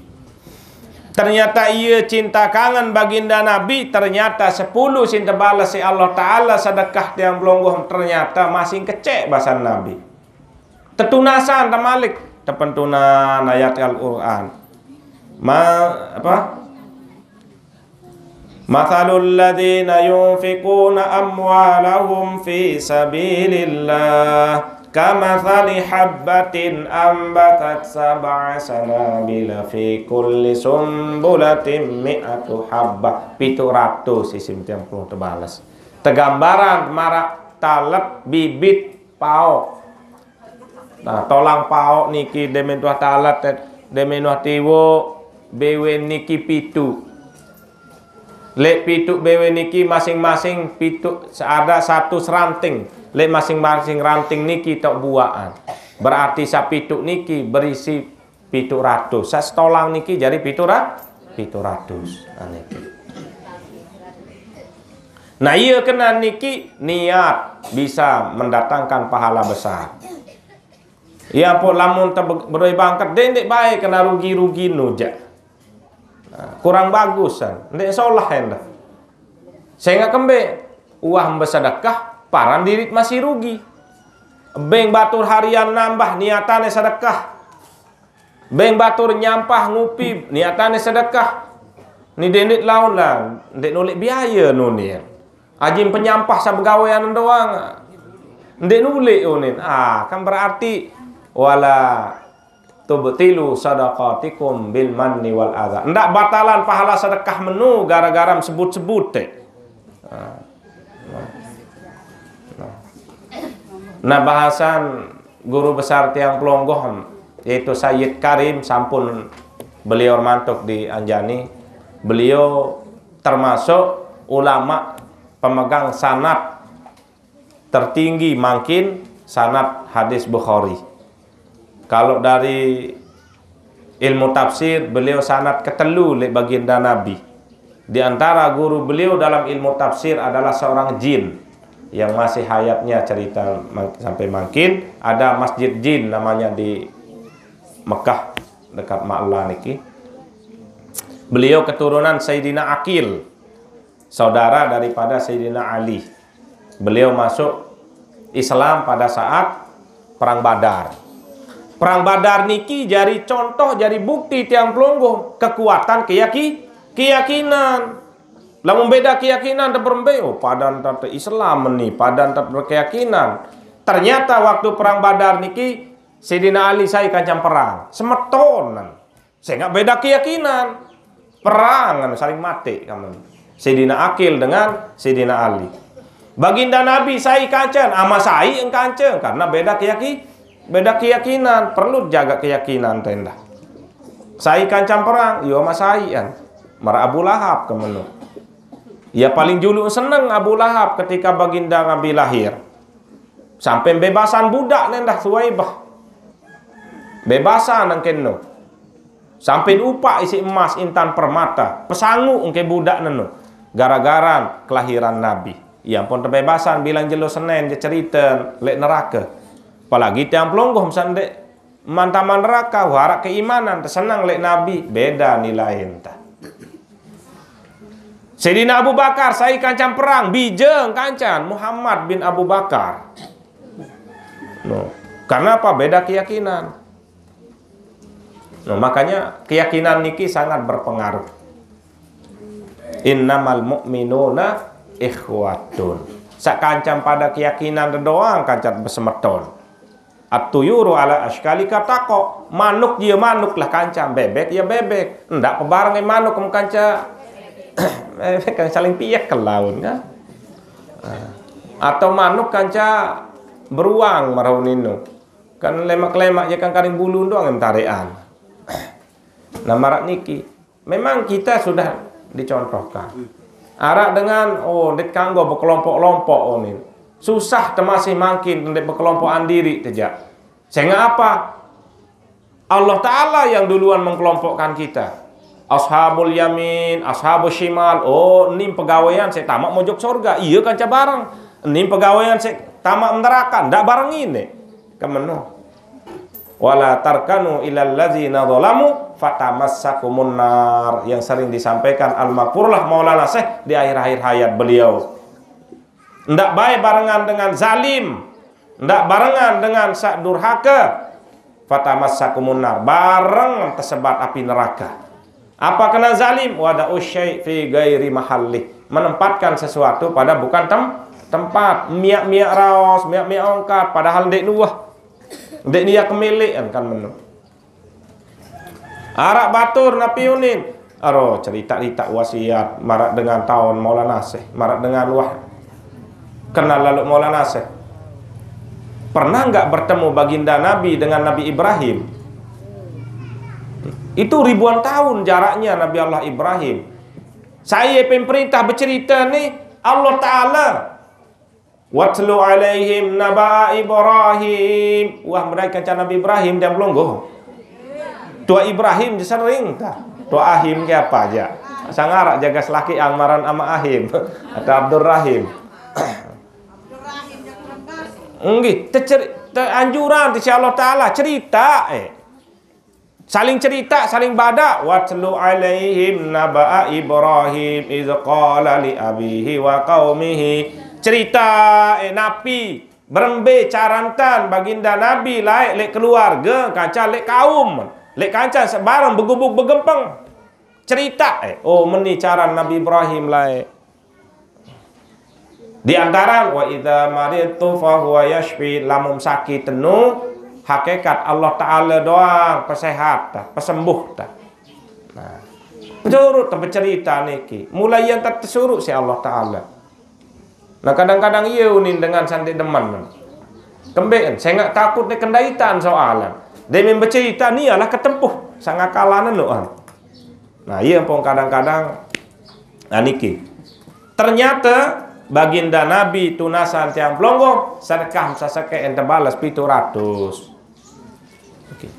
Ternyata ia cinta kangen baginda Nabi, ternyata sepuluh sin tebales siq Allah Taala sedekah tiang pelungguh, ternyata masing kecek basan Nabi. Tetunasan temalik, tepentunan ayat Al-Quran. Ma, apa? Mathalul ladzina yunfiquna amwalahum fi sabilillah kamathali habbatin ambatat sab'a sanabila fi kulli sumbulatin mi'atu habbah. Pitu ratus isim tiang puluh tebales. Tegambaran maraq talet bibit paoq. Nah, tolang paoq niki demen tuah talet, demen tuah tiwoq, bewe niki pitu. Leq pitu bewe niki masing-masing pitu, ada satu seranting. Leq masing-masing ranting niki tok buaqan. Berarti sapitu niki berisi pitu ratus. Sas tolang niki jari pitu ra-, pitu ratus. Nah, niki. Nah, iya kena niki niat bisa mendatangkan pahala besar. Iya pun lamun te-, bedoe bangket, ndeq, ndeq bae kena rugi-rugi nu jaq. Nah, kurang bagus kan. Ndeq solah endah. Sengaq kembe uah mbe sedekah, paran dirit masih rugi. Beng batur harian nambah niatane sedekah. Beng batur nyampah ngupi, niatane sedekah. Ni dendet laun lah, ndeq nulik biaya nuni. Ajin penyampah sabegawean doang. Ndeq nulik unin. Ah, kan berarti wala tubtilu sadaqatikum bil manni wal adza. Ndak batalan pahala sedekah menu gara-gara sebut-sebut te. Ah. Nah, bahasan guru besar tiang pelonggoh, yaitu Sayyid Karim, sampun beliau mantuk di Anjani. Beliau termasuk ulama pemegang sanad tertinggi mangkin, sanad hadis Bukhari. Kalau dari ilmu tafsir, beliau sanad ketelu leq baginda Nabi. Di antara guru beliau dalam ilmu tafsir adalah seorang jin yang masih hayatnya cerita mang-, sampai mangkin. Ada masjid jin namanya di Mekah, dekat Ma'la niki. Beliau keturunan Sayyidina Aqil, saudara daripada Sayyidina Ali. Beliau masuk Islam pada saat Perang Badar. Perang Badar niki jari contoh, jari bukti tiang pelungguh kekuatan keyaki-, keyakinan. Lamun beda keyakinan teperembe, oh, padan tat Islam ni, padan tat berkeyakinan. Ternyata waktu Perang Badar niki, Sayyidina Ali sai kancang perang. Semetonan. Sehingga beda keyakinan. Perang, anu, saling mati kamu. Sayyidina Aqil dengan Sayyidina Ali. Baginda Nabi sai kancan, ama sai kancan karena beda keyaki beda keyakinan, perlu jaga keyakinan tenda. Sai kancan perang, yo ama sai an. Mara Abu Lahab kemenu. Ya paling julu seneng Abu Lahab ketika baginda Nabi lahir. Sampai bebasan budak nendah Suwaibah. Bebasan nang keno. Sampai upak isi emas intan permata. Pesangu engke budak nenu. Gara-gara kelahiran Nabi. Ya ampun tebebasan bilang jelo Senin je cerita lek neraka. Apalagi tiang pelonggoh misalnya dek mantaman neraka, warak keimanan, tersenang lek Nabi, beda nilai entah. Sayyidina Abu Bakar, sai kancan perang, bijeng kancan Muhammad bin Abu Bakar. No. Karena apa? Beda keyakinan. No, makanya keyakinan niki sangat berpengaruh. Innamal mu'minuna ikhwatun. Sak kancan pada keyakinan doang kancan besemeton. At-tuyuru ala ashkali katako. Manuk dia manuk lah kancan, bebek ya bebek. Ndak pebareng manuk kem kanca. Bebek kan saling piak ke laun kan. Ah. Atau manuk kanca beruang marau nino. Kan lemak-lemak je kan karing bulu doang yang tarekan. Nah, marak niki. Memang kita sudah dicontohkan. Arak dengan, oh, ndet kanggo bekelompok-kelompok, oh, ni. Susah temasih mangkin ndet bekelompokan diri tejak. Sehingga apa? Allah Ta'ala yang duluan mengkelompokkan kita. Ashabul yamin, ashabul shimal. Oh, nim pegawaian saya tamak mojok surga. Iya kanca bareng. Nim pegawaian saya tamak neraka. Ndak bareng ini. Kemeno. Wala tarkanu ilal ladzina zalamu fatamassakumun nar, yang sering disampaikan almarhumlah Maulana Syekh di akhir-akhir hayat beliau. Ndak baik barengan dengan zalim, ndak barengan dengan sak durhaka. Fatamassakumun nar, bareng tersebat api neraka. Apa kena zalim? Wada usyai fi gairi mahalli, menempatkan sesuatu pada bukan tem tempat. Miak-miak raos, miak-miak ongkat, padahal ndek nuah. Ndek niat kemilik kan, kan menu. Arak batur napi unin. Aro cerita-cerita wasiat marak dengan tahun Maulana Syekh, marak dengan wah kenal lalu Maulana Syekh. Pernah nggak bertemu baginda Nabi dengan Nabi Ibrahim? Itu ribuan tahun jaraknya Nabi Allah Ibrahim. Saya pemerintah bercerita ni Allah Ta'ala. Watlu alaihim naba'a Ibrahim. Wah, mereka kanca Nabi Ibrahim dia belum go. Tua Ibrahim je sering ta. Tua Ahim ke apa aja. Sangarak jaga selaki amaran ama Ahim atau Abdurrahim. Enggih, tecer- teranjuran ti si Allah Ta'ala cerita eh. Saling cerita, saling bada. Watlu alaihim naba'a Ibrahim iz qala li abihi wa qaumihi. Cerita eh, napi berembe carantan baginda Nabi laik lek keluarga kanca lek kaum lek kanca sebarang begubuk begempeng. Cerita eh, oh meni caran Nabi Ibrahim laik. Di antara wa idza maridtu fa huwa yashfi, lamun sakit tenu hakikat Allah Ta'ala doang pesehat ta, pesembuh ta. Nah, turut ta bercerita niki. Mulai yang tak tersuruh si Allah Ta'ala. Nah, kadang-kadang iya unin dengan sandik deman. Kembek, saya nggak takut ni kendaitan soalan. Dia main bercerita ni ialah ketempuh. Sangat kalah nenu. Nah, iya pun kadang-kadang nah, niki. Ternyata baginda Nabi tunasan tiang pelonggong sedekah sasake ente balas pitu ratus. Oke.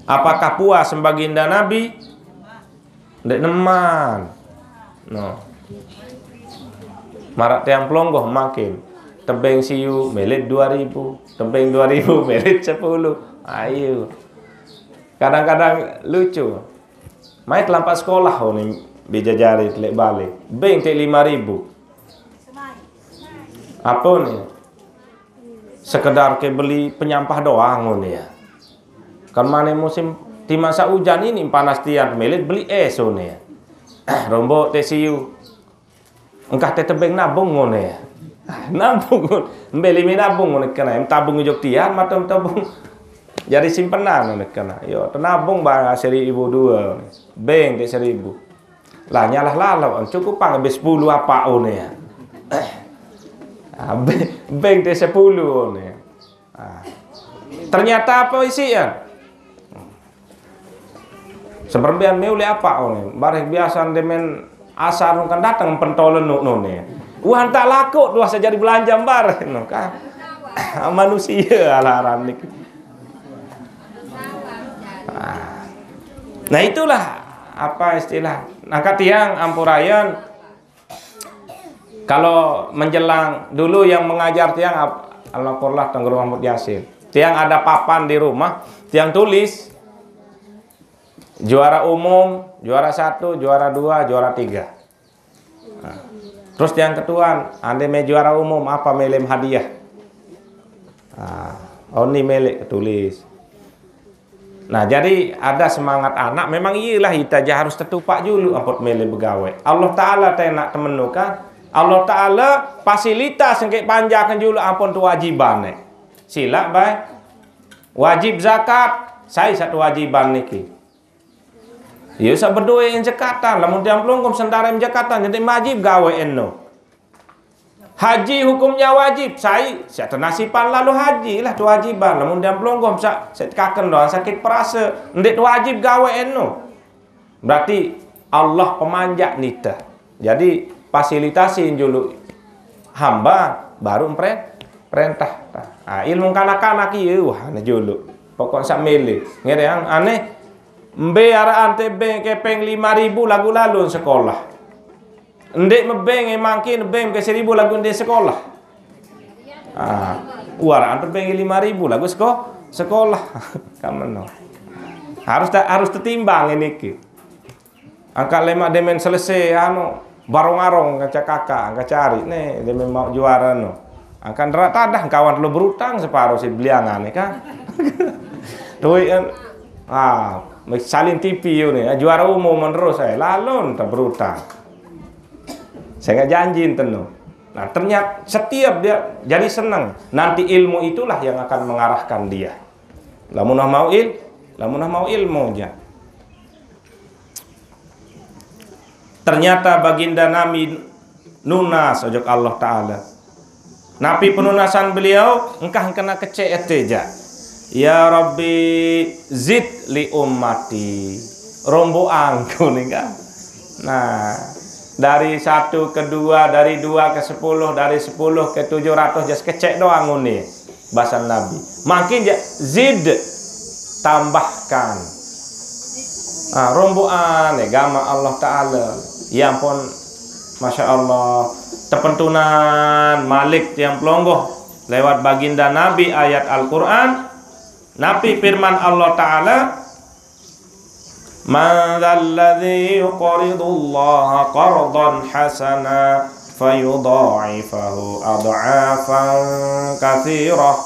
Apakah puas baginda Nabi? Ndek neman. No. Marak tiang pelonggong makin. Tebeng siu melit dua ribu, tebeng dua ribu melit sepuluh. Ayo. Kadang-kadang lucu. Mai kelampak sekolah oh ni bija jari telik balik. Beng tek lima ribu. Apa ni? Sekedar ke beli penyampah doang oh ni ya. Kan mana musim di masa hujan ini panas tian melit beli es oh ni ya. Rombok teh siu. Engkah teh tebeng nabung ngono ya. Nabung ngono. Mbeli mi nabung ngono kena. Em tabung ujok tian matem tabung. Jadi simpenan ni kena. Yo, tenabung ba seribu dua ni. Bank te seribu. Lah, nyalah lalau, cukup pang habis sepuluh apa ni ya. Ah, bank, bank te sepuluh ni. Ah. Ternyata apa isi ya? Seberembian me ule apa ni? Bareh biasa demen asar kan datang pentolen nu, nu ni. Wah, tak laku dua sejadi belanja bareh nu kan. Manusia alarm ni. Ah. Nah, itulah apa istilah. Angkat tiang ampurayan. Kalau menjelang dulu yang mengajar tiang ap-, almarhum Tuan Guru Mahmud Yasin. Tiang ada papan di rumah, tiang tulis juara umum, juara satu, juara dua, juara tiga. Nah. Terus tiang ketuan, ande me juara umum apa melem hadiah? Nah, oni melek ketulis. Nah, jadi ada semangat anak, memang iyalah ita ja harus tetupak julu ampot mele begawe. Allah Ta'ala tenak temenu kan. Allah Ta'ala fasilitas engke panjaken julu ampon kewajiban ne. Silak bae. Wajib zakat, sai satu kewajiban niki. Iya, sak bedoe en zekatan, lamun tiang pelungguh sendare en zekatan, jadi wajib gawe eno. Haji hukumnya wajib, sai, sak tenasipan lalu haji lah kewajiban. Lamun tiang pelungguh sak, sak tekaken doang sakit perasa, ndeq wajib gawe eno. Berarti Allah pemanjak nite. Jadi fasilitasi julu hamba baru empre-, perintah. Ah, ilmu kanak-kanak iya, wah, ne julu. Pokok sak mele. Ngerti yang aneh, mbe araq ante bank kepeng lima ribu lagu lalun sekolah. Ndeq mebeng, eh, mangkin beng ke seribu lagu ndeq sekolah. Ah, uaraan tebeng lima ribu lagu seko-, sekolah. Kamen no. Harus ta-, harus tetimbang ini ki. Angkat lemak demen selesai, anu, barong-arong kaca kakak, angkat cari. Nih, demen mau juara no. Angkat derak tadah, kawan lu berutang separuh si beliangan, ya kan? Tuh, kan? Ah, salin T V yo nih, juara umum menerus saya. Lalu, entah berutang. Saya nggak janji enten no. Nah, ternyata setiap dia jadi senang. Nanti ilmu itulah yang akan mengarahkan dia. Lamunah mau il-, lamunah mau ilmu aja. Ternyata baginda nami nunas ojok Allah Ta'ala. Napi penunasan beliau, engkah kena kecek ete ja. Ya Rabbi, zid li ummati. Rombo angku nih kan. Nah, dari satu ke dua, dari dua ke sepuluh, dari sepuluh ke tujuh ratus, jas kecek doang uni. Basan Nabi. Makin ja zid, tambahkan. Ah, romboan, eh, gama Allah Ta'ala. Ya ampun, Masya Allah. Tepentunan malik tiang pelonggoh lewat baginda Nabi ayat Al-Quran. Napi firman Allah Ta'ala, "Man dzalladzi yuqridullaha qardan hasana fayudha'ifahu adh'afan katsirah."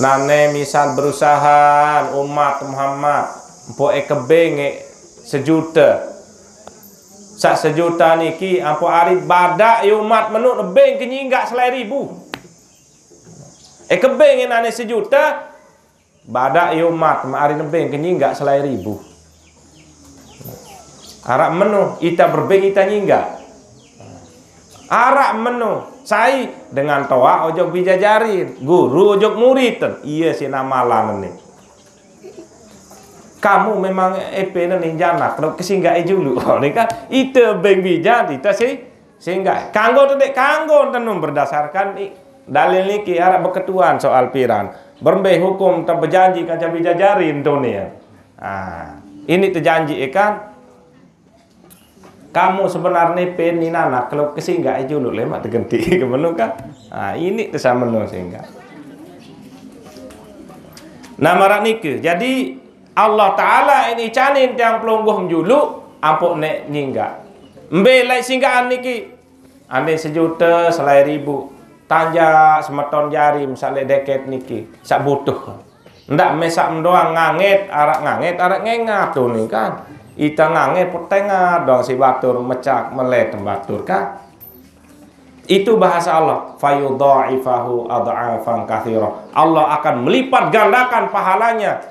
Nane misal berusaha umat Muhammad, mpoke kebeng sejuta. Sak sejuta niki ampo ari badak ye umat menu nebeng kenyinggak selai ribu. Eh, kebeng nane sejuta, badak ye umat, ma ari nebeng kenyinggak selai ribu. Araq meno, ita berbeng ita nyinggak. Araq meno, sai dengan toaq ojok bijajarin, guru ojok murid, iye si namalan ni. Kamu memang epe ni janak, kesinggae julu. Ni kan, ite beng bijat, ite si Sehingga kanggo tedek kanggo tenung berdasarkan i-, dalil niki araq beketuan soal piran. Berembe hukum te bejanji kanca bijajarin tu ni. Ah, ini tejanji ikan. Kamu sebenarnya pen ni nanak kalau kesingga julu lemak tegenti ke menu kan. Ah, ini tesameno sehingga. Nah, maraq nike. Jadi, Allah Ta'ala ini canin tiang pelungguh menjulu, ampuk nek nyingga. Mbe lai singgaan niki? Ande sejuta selai ribu. Tanjak semeton jari, misal lek deket niki, sak butuh. Ndak mesak mendoang nganget, araq nganget, araq ngengat tu ni kan. Ita nganget petengat doang si batur mecak melet batur kan. Itu bahasa Allah, fayudha'ifahu adh'afan katsira. Allah akan melipat gandakan pahalanya.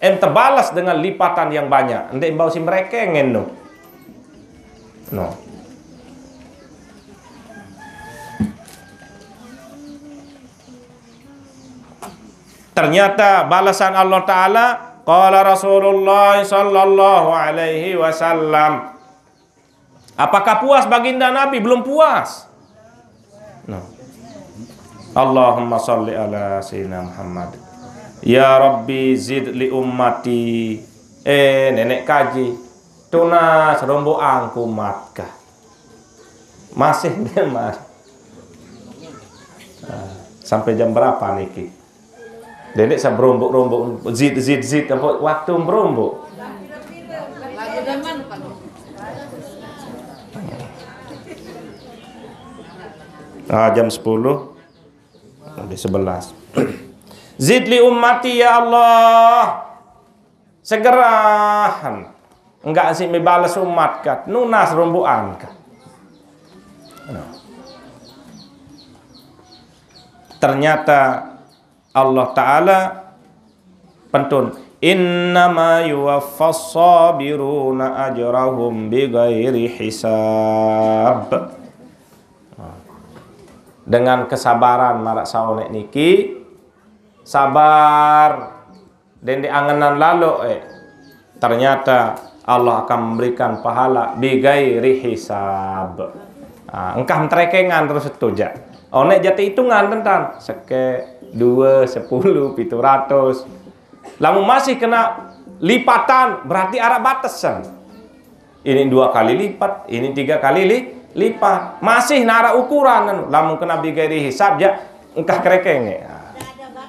Ente balas dengan lipatan yang banyak. Ndeq mbau si merekengen no. No. Ternyata balasan Allah Ta'ala, qala Rasulullah sallallahu alaihi wasallam. Apakah puas baginda Nabi? Belum puas. No. Allahumma salli ala Sayyidina Muhammad. Ya Rabbi zid li ummati. Eh, nenek kaji. Tunas rombo angkumat kah? Masih dia, Mas. Nah, sampai jam berapa niki? Dedek saya berombok-rombok, zit, zit, zit, apa waktu berombok? Ah, jam sepuluh, lebih sebelas. Zid li ummati, ya Allah. Segerahan. Enggak sih, mebales umat kat. Nunas romboan kat. Nah. Ternyata Allah Ta'ala pentun, "Innama yuwaffas sabiruna ajrahum bighairi hisab." Dengan kesabaran maraq saoneq niki, sabar, dende angenan lalo, eh, ternyata Allah akan memberikan pahala bighairi hisab. Ah, engkah menterekengan terus itu, jaq. Oneq jaq teitungan tentan. Sekeq, due, sepuluh, pitu ratus. Lamun masih kena lipatan, berarti araq batesan. Ini dua kali lipat, ini tiga kali li-, lipat. Masih nara ukuran, anu, lamun kena bighairi hisab, jaq, engkah kerekenge.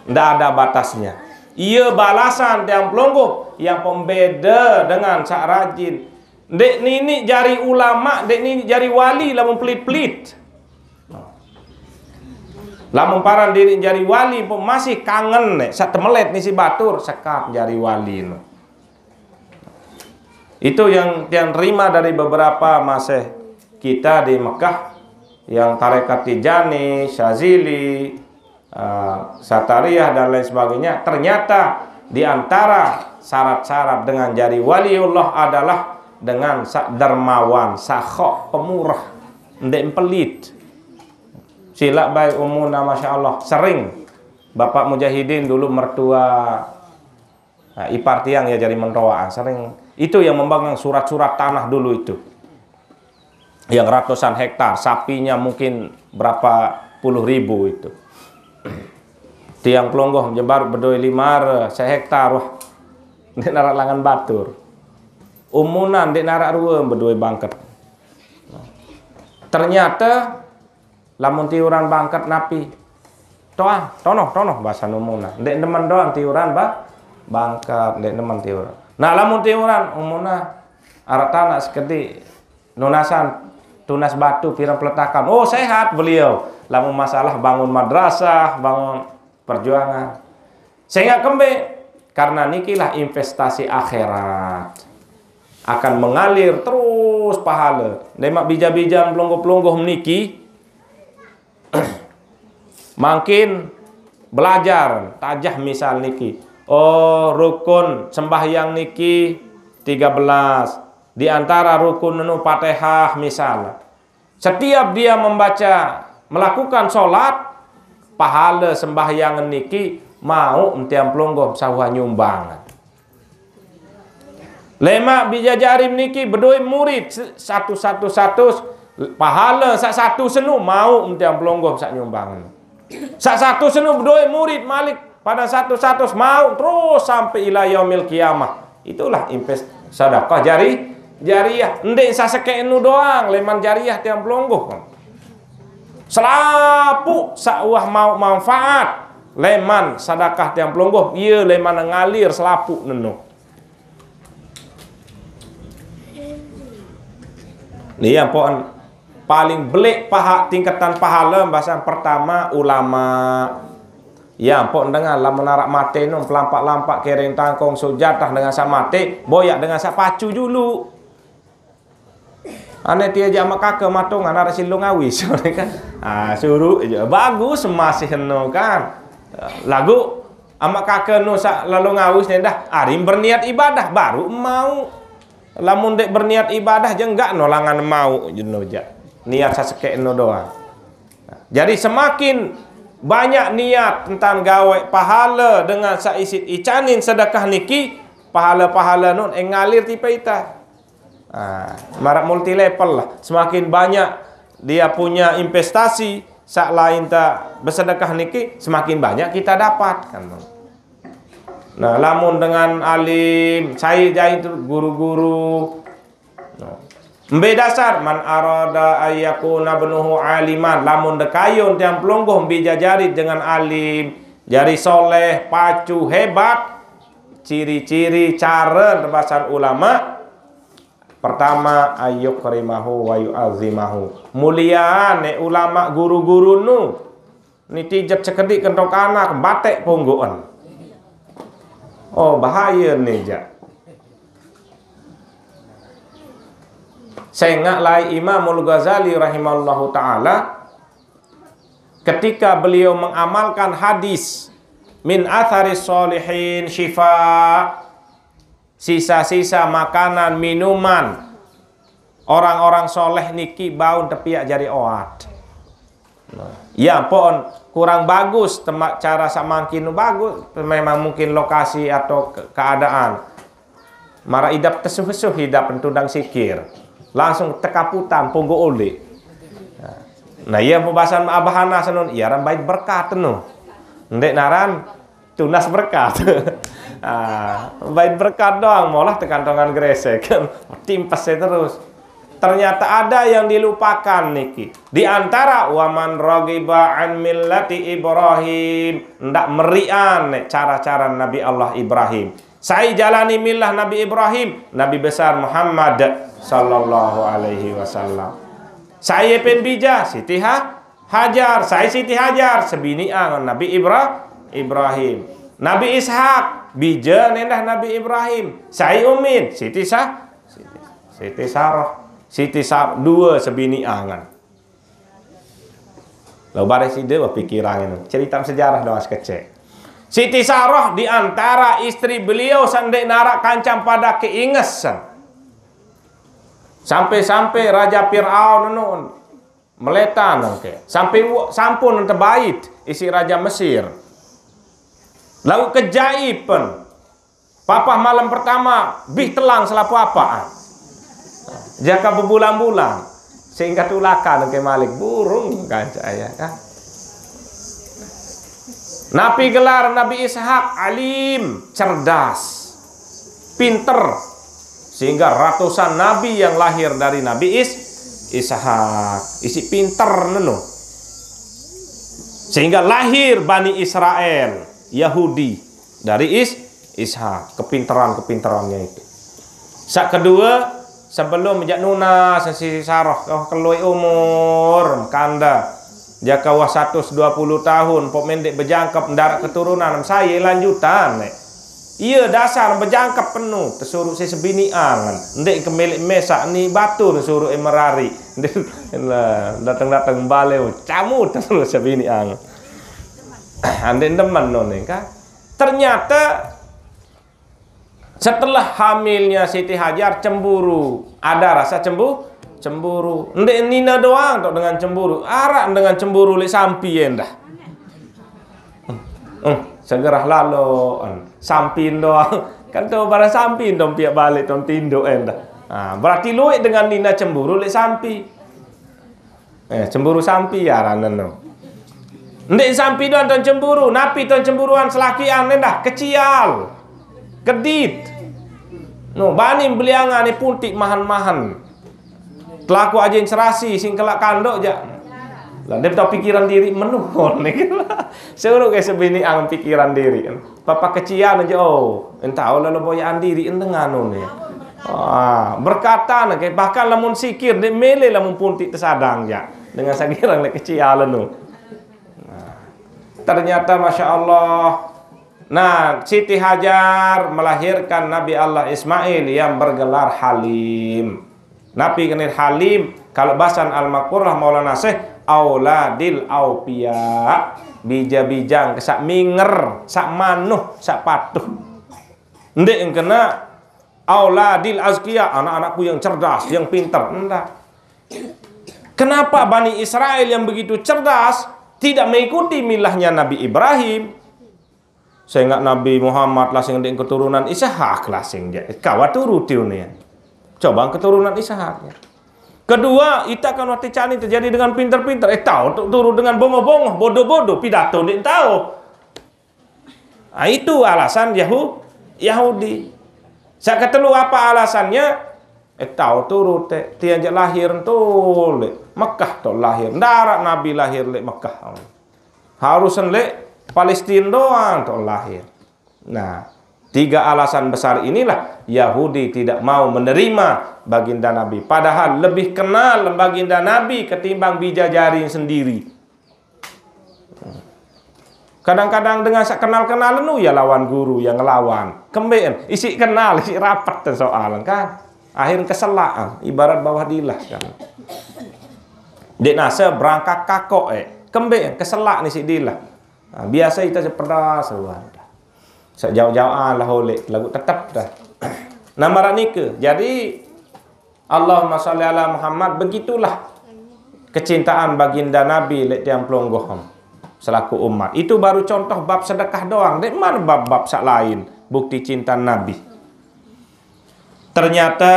Ndak ada batasnya. Iya balasan tiang pelungguh yang pembeda dengan saq rajin. Ndeq niniq jari ulama, ndeq niniq jari wali lamun pelit-pelit. Lamun paran diriq jari wali, pun masih kangen neq, saq temelet nisi batur, sekat jari wali no. Itu yang, yang terima dari beberapa maseh kita di Mekah, yang tarekat Tijani, Syazili, eh, Satariyah, dan lain sebagainya. Ternyata di antara syarat-syarat dengan jari waliullah adalah dengan saq dermawan, sakhok, pemurah, ndeq pelit. Silaq bae umuna, masya Allah, sering Bapak Mujahidin dulu mertua, nah, ipar tiang ya, jari mentoa, sering. Itu yang memegang surat-surat tanah dulu itu. Yang ratusan hektar, sapinya mungkin berapa puluh ribu itu. Tiang pelungguh jembar bedoe lima are sehektar, wah, ndeq naraq langan batur. Umuna ndeq naraq rue bedoe bangket. Ternyata lamun tiuran bangket napi? Toang, tonoh, tonoh, basen umuna. Ndeq demen doang tiuran, ba-, bangket, ndeq demen tiuran. Nah, lamun tiuran, umuna araq tanaq sekediq, nunasan, tunas batu, pireng peletakan. Oh, sehat beliau. Lamun masalah bangun madrasah, bangun perjuangan. Sengaq kembe? Karena nikilah investasi akhirat. Akan mengalir terus pahale. Lemaq bija-bijan pelungguh-pelungguh niki, mangkin belajar tajah misal niki. Oh, rukun sembahyang niki tiga belas. Di antara rukun enu Fatihah misal. Setiap dia membaca, melakukan sholat, pahale sembahyang niki mauq tiang pelungguh saq uah nyumbang. Lemaq bija jari niki bedoe murid se-, satus, satus, satus, pahale saq satus enu mauq tiang pelungguh saq nyumbang. Saq satus enu bedoe murid malik, pade satus, satus mauq terus sampai ila yaumil qiyamah. Itulah invest sedekah jari-, jariah. Ndeq sasekeq enu doang, leman jariah tiang pelungguh. Selapuq saq uah mauq manfaat leman sedekah tiang pelungguh, ie leman ngalir selapuq nenu. Ni ampoqn paling beleq paha-, tingketan pahale, basen pertama ulama. Ya, ampoqn dengan lamun araq mate nu pelampak-lampak kereng tangkong sujatah dengan saq mate, boyaq dengan saq pacu julu. Ane tie jaq maq kake matungan araq silung awis, kan? Ah, suruh je. Bagus masih no kan. Lagu amak kaka no sak lalu ngawis ni dah. Arim berniat ibadah baru mau. Lamun dek berniat ibadah je enggak no langan mau je no je. Niat sasekek no doang. Jadi semakin banyak niat tentang gawe pahala dengan saisit icanin sedekah niki, pahala-pahala nun eh ngalir tipe ita. Ah, marak multi level lah. Semakin banyak dia punya investasi, sak lain ta bersedekah niki, semakin banyak kita dapat kan. Nah, lamun dengan alim, saya jahit tu guru-guru. Nah. Mbe dasar man arada ayyakuna benuhu aliman, lamun dekayun tiang pelungguh mbi jajari dengan alim, jari soleh, pacu, hebat, ciri-ciri cara tebasan ulama. Pertama, ayyukrimahu wa yu'azzimahu. Mulian ne ulama guru-guru nu. Ni tijet sekedik kentok anak, batek pungguan. Oh, bahaya ni ja. Sengak lai Imamul Ghazali rahimahullahu ta'ala, ketika beliau mengamalkan hadis, "Min athari solihin syifa," sisa-sisa makanan, minuman orang-orang soleh niki baun tepiak jari oat. Nah, ya pon kurang bagus temak cara samangkin bagus, memang mungkin lokasi atau ke- keadaan. Mara idap tesuh-suh idap tundang sikir. Langsung tekaputan punggu uli. Nah, iya pembahasan Abah Anas nun, iya ran bait berkat nu. Ndek naran tunas berkat. Ah, bait berkat doang, molah tekantongan gresek. Timpes saya terus. Ternyata ada yang dilupakan niki. Di antara waman raghiba an millati Ibrahim, ndak merian nek cara-cara Nabi Allah Ibrahim. Saya jalani milah Nabi Ibrahim, Nabi besar Muhammad sallallahu alaihi wasallam. Saya pen bija Siti Ha- Hajar, saya Siti Hajar, sebini angan Nabi Ibra- Ibrahim. Nabi Ishak, bija nendah Nabi Ibrahim. Saya Umin, Siti Sah- Siti Sarah. Siti Sar- dua sebini angan. Lalu bareh sida berpikiran ini. Cerita sejarah doang sekecil. Siti Sarah di antara istri beliau sandek narak kancam pada keingesan. Sampai-sampai Raja Fir'aun nun meletan ke. Sampai wa- sampun tebait isi Raja Mesir. Lalu kejaipen. Papah malam pertama, bih telang selapu apa. Jaka bebulan-bulan. Sehingga tulakan ke malik burung kan saya kan. Nabi gelar Nabi Ishak alim, cerdas, pinter. Sehingga ratusan nabi yang lahir dari Nabi Is- Ishak. Isi pinter nenu. Sehingga lahir Bani Israel, Yahudi, dari Is- Ishak. Kepinteran-kepinterannya itu. Sak kedua, sebelum jak nunas si Sarah kau kelui umur kanda, jaka wah seratus dua puluh tahun pok mendek bejangkep ndak keturunan saya lanjutan. Iya dasar bejangkep penuh tesuruh si sebini angan ndak ke milik mesak ni batu suruh merari. Datang-datang balik camu terus sebini angan. Andai demen none kan. Ternyata setelah hamilnya Siti Hajar cemburu, ada rasa cembu, cemburu. Ndek nina doang tok dengan cemburu, arak dengan cemburu lek sampi endah. Hmm, segera lalo, hmm, sampin doang. Kan tu barang sampin dong piak balik dong tinduk endah. Nah, berarti luik dengan nina cemburu lek sampi. Eh, cemburu sampi ya ranen no. Ndik sampi doang ton cemburu, napi ton cemburuan selakian endah kecial. Kedit. No, bani beliangan ni puntik mahan-mahan. Telaku ajin serasi sing kelak kandok ja. Lah dia tahu pikiran diri menuhon ni. Suruh ke sebini ang pikiran diri. Papa kecian aja oh, entah lah lo boyaan diri entengano ni. Ah, berkatan ke bahkan lamun sikir ni mele lamun puntik tersadang ja. Dengan sagirang le kecian nu. Nah, ternyata masya Allah. Nah, Siti Hajar melahirkan Nabi Allah Ismail yang bergelar Halim. Nabi kenir Halim, kalau basan Al-Makurah Maulana Syekh auladil aupiya, bija-bijang ke sak minger, sak manuh, sak patuh. Ndeq kena auladil azkiya, anak-anakku yang cerdas, yang pinter. Enggak. Kenapa Bani Israel yang begitu cerdas tidak mengikuti milahnya Nabi Ibrahim? Sehingga Nabi Muhammad lah sing ndeq keturunan Ishak lah sing ja. Kawa turuti ni. Coba keturunan Ishak, ya. Kedua, ita kan waktu cani terjadi dengan pinter-pinter. Eh, tahu tu turun dengan bongoh-bongoh, bodoh-bodoh, pidato ndeq tahu. Ah, itu alasan Yahu-, Yahudi. Sak ketelu apa alasannya? Eh, tahu turut, eh, tiang jaq lahir tu leq Mekah tu lahir. Ndaraq Nabi lahir leq Mekah. Harus leq Palestina doang tu lahir. Nah, tiga alasan besar inilah Yahudi tidak mau menerima baginda Nabi. Padahal lebih kenal baginda Nabi ketimbang bijajari sendiri. Kadang-kadang dengan sak kenal-kenalan nu ya lawan guru yang ngelawan. Kembeqen, isiq kenal, isiq rapet soal kan. Akhir keselak, ibarat bawah dilah kan. Ndeq nase berangkat kakok, eh. Kembeqen, keselak ni siq dilah. Nah, biasa ite sepedas, wah. Sejauh-jauhan lah oleh, laguq tetep dah. Nah, maraq nike. Jadi, Allahumma sholli ala Muhammad, begitulah kecintaan baginda Nabi leq tiang pelungguh selaku umat. Itu baru contoh bab sedekah doang. Ndeqman bab-bab saq lain bukti cinta Nabi. Ternyata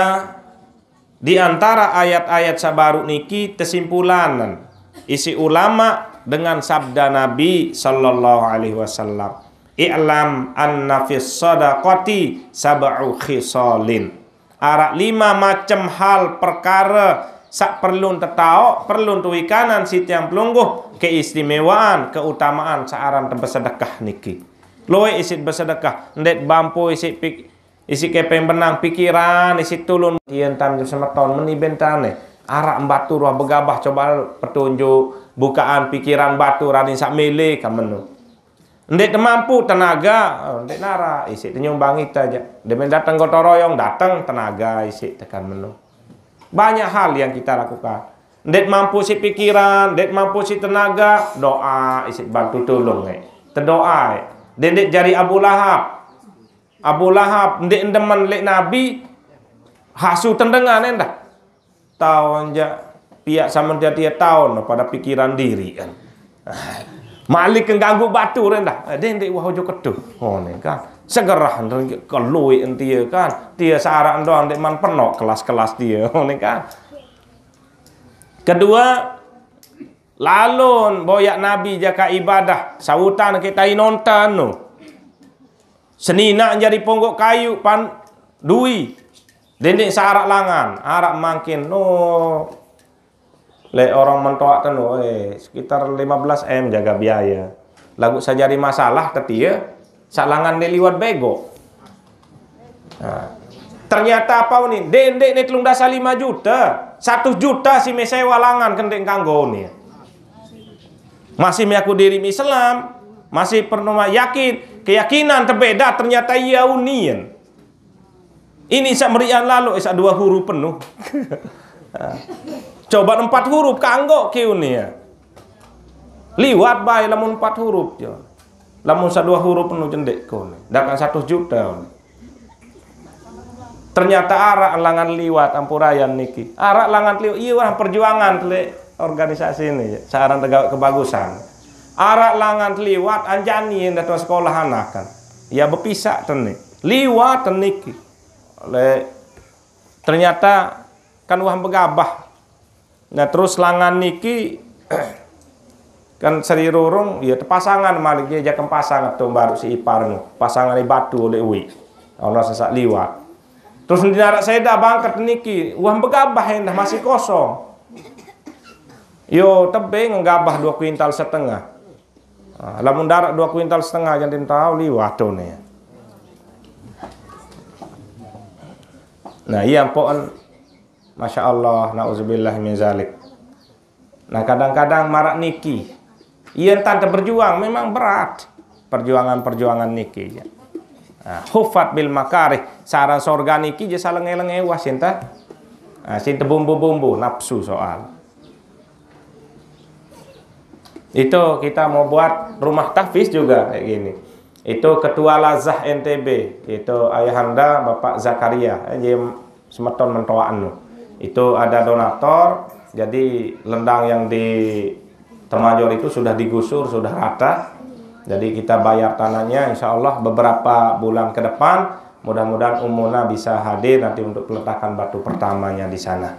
di antara ayat-ayat saq baruq niki tesimpulanen isiq ulama dengan sabda Nabi sallallahu alaihi wasallam, "I'lam anna fis sadaqati sab'u khisalin." Araq lima macem hal perkare saq perlun tetaoq, perlun tewikanan siq tiang pelungguh keistimewaan, keutamaan saq aran besedekah niki. Lueq isiq besedekah, ndeq bampu isiq pik-, isiq kepeng benang pikiran, isiq tulun. Yen tan semeton meni bentane, araq batur wah begabah coba petunjuk, bukaan pikiran batur anin saq mele kamenu. Ndeq temampu tenaga, oh, ndeq naraq, isiq tenyumbang ite jaq. Demen dateng gotong royong, dateng tenaga isiq tekan menu. Banyak hal yang kita lakukan. Ndeq mampu siq pikiran, ndeq mampu siq tenaga, doa isiq bantu tulung, eh. Tedoa, eh. Dendeq jari Abu Lahab. Abu Lahab ndeq demen leq Nabi, hasu tendengan endah. Taon jaq piaq same dia taon pada pikiran diriq kan. Malik ke ganggu batur endah. Eh, dendeq wah ojo ketuh. Oh, ne kan. Segerah keluiq entie kan. Tie saraq doang ndeqman penoq kelas-kelas tie. Oh, ne kan. Kedua, lalun boyaq Nabi jaka ibadah, sautan ke tai nonton nu. Seninaq jari ponggok kayu pan dui. Dendeq saq araq langan, araq mangkin. No. Leq orang mentoaq tenu, eh, sekitar lima belas M jaga biaya. Laguq saq jari masalah tetie, saq langan ndeq liwat bego. Nah, ternyata apa ni? Dendeq ni telung dasa lima juta, satu juta si me sewa langan kendeq kanggo ni. Masih mengaku diri Islam, masih pernah yakin, keyakinan tebeda, ternyata ia unian. Ini saq merian lalo, eh, saq dua huruf penuh. Coba empat huruf kanggo kiu ni ya. Liwat bae lamun empat huruf jo. Lamun saq dua huruf penuh jendeq ko ni. Dakan satu juta. Ternyata araq langan liwat ampurayan niki. Araq langan liwat, iya, wah, perjuangan leq organisasi ni, saq aran tegaweq kebagusan. Araq langan liwat anjani endah tuan sekolah anak kan. Ya bepisak teni. Liwat teniki. Leq ternyata kan wah begabah. Nah, terus langan niki kan Seri Rurung, ya tepasangan malik, ye jakem pasang atau baru si ipar nu. Pasangan batu oleh uwi. Ono sesak liwat. Terus di narak seda bangket niki, wah begabah endah masih kosong. Yo tebeng gabah dua kuintal setengah. Ah, lamun darak dua kuintal setengah jangan tahu liwat tu ni. Nah, iya, ampoqen. Masya Allah, nauzubillah min zalik. Nah, kadang-kadang maraq niki. Iya, entan berjuang, memang berat perjuangan-perjuangan niki, ya. Nah, hufat bil makarih, saran sorga niki je salenge-lenge wah sinta. Nah, sinta bumbu-bumbu, nafsu soal. Itu kita mau buat rumah tahfiz juga kayak gini. Itu ketua Lazah N T B, itu ayahanda Bapak Zakaria, eh, jadi semeton mentoa anu. Itu ada donator, jadi lendang yang di Temajor itu sudah digusur, sudah rata. Jadi kita bayar tanahnya, insya Allah beberapa bulan ke depan, mudah-mudahan Umuna bisa hadir nanti untuk peletakan batu pertamanya di sana.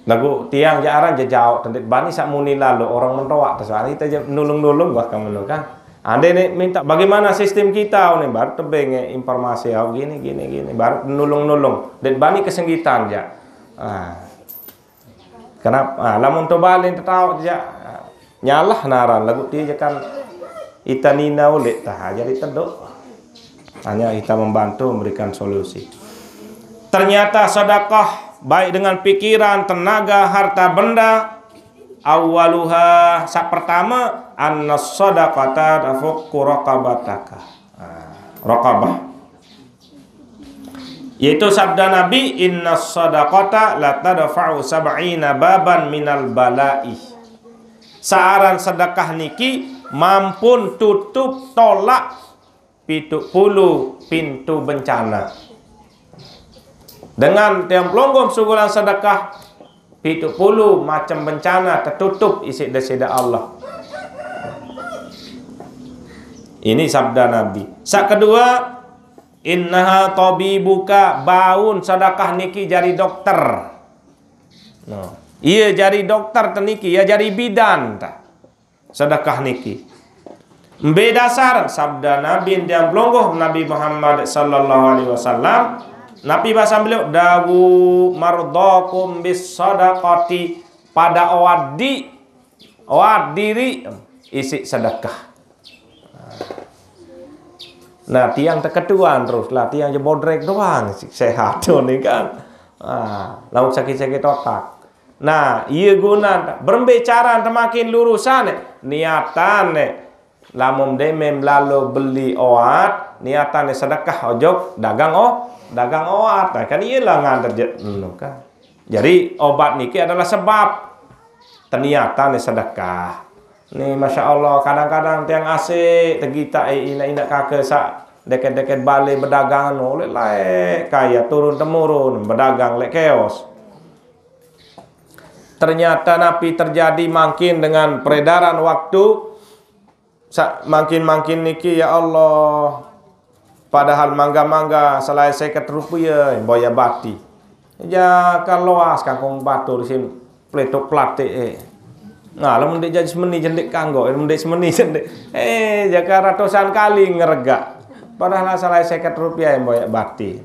Lagu tiang jaran jejauh, tendit bani sak muni lalu orang mentoak, terus hari kita je nulung-nulung, wah, kamu nu kan. Ande ni minta bagaimana sistem kita ni, baru tebeng, eh, informasi, oh, gini, gini, gini, baru nulung-nulung. Det bani kesenggitan ja. Ah. Kenapa? Ah, lamun to balen tetau ja. Nyalah naran lagu ti je kan ita nina ulit tah, jadi teduk. Hanya kita membantu memberikan solusi. Ternyata sedekah baik dengan pikiran, tenaga, harta benda, awaluha, sak pertama, anna sadaqata tafuqqu raqabataka. Ah, raqabah. Yaitu sabda Nabi, "Inna sadaqata la tadfa'u sab'ina baban minal bala'i." Saaran sedekah niki mampun tutup tolak pitu puluh pintu bencana. Dengan tiang pelonggom sugulan sedekah, pitu puluh macam bencana tertutup isi desida Allah. Ini sabda Nabi. Sak kedua, innaha tabibuka, baun sedekah niki jari dokter. No. Iya jari dokter teniki, ya jari bidan ta. Sedekah niki. Mbe dasar sabda Nabi yang pelonggom Nabi Muhammad sallallahu alaihi wasallam. Nabi bahasa beliau, "Dawu mardakum bis sadaqati." Pada oat di, oat diri isi sedekah. Nah, tiang teketuan terus lah, tiang je bodrek doang, sehat tu ni kan. Ah, lauk sakit-sakit otak. Nah, iya guna berembe cara temakin lurusan, niatan, lamun demem lalu beli oat, niatan sedekah ojok dagang, oh, dagang oat. Nah, kan iyalah nganter je, anu kan. Jadi obat niki adalah sebab. Ternyata ni sedekah. Ni, masya Allah, kadang-kadang tiang asik tegita, eh, ina-ina kaka sak deket-deket balai bedagang anu, oleh lae kaya turun temurun bedagang lek keos. Ternyata napi terjadi mangkin dengan peredaran waktu, sa-, mangkin-mangkin niki, ya Allah. Padahal mangga-mangga salai seket rupiah, boya bati. Ja kan loas kangkung batur sin pletuk platik, eh. Nah, lamun ndik jadi semeni jendik kanggo, lamun ndik semeni jendik. Eh, jaka ratusan kali ngeregak. Padahal salai seket rupiah yang boya bati.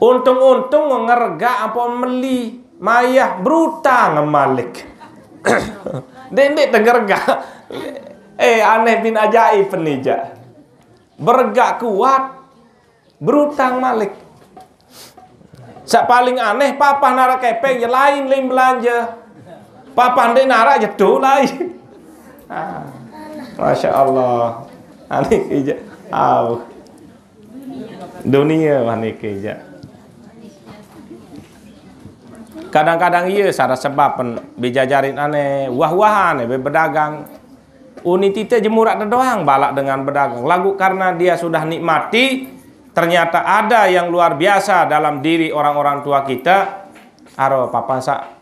Untung-untung ngeregak apa meli, mayah berutang malik. Ndik-ndik tengeregak. Eh, aneh bin ajaib penija. Beregak kuat, berutang malik. Sak paling aneh, papah narak kepeng je lain, lain belanja. Papah ndik narak je tu lain. Ah, masya Allah. Aneh ija. Au. Dunia wah niki ja. Kadang-kadang iya sara sebab pen bejajarin aneh, wah-wahan, eh, be-, bedagang. Uni tite jemurak doang balak dengan bedagang. Lagu karena dia sudah nikmati, ternyata ada yang luar biasa dalam diri orang-orang tua kita. Aro papan sa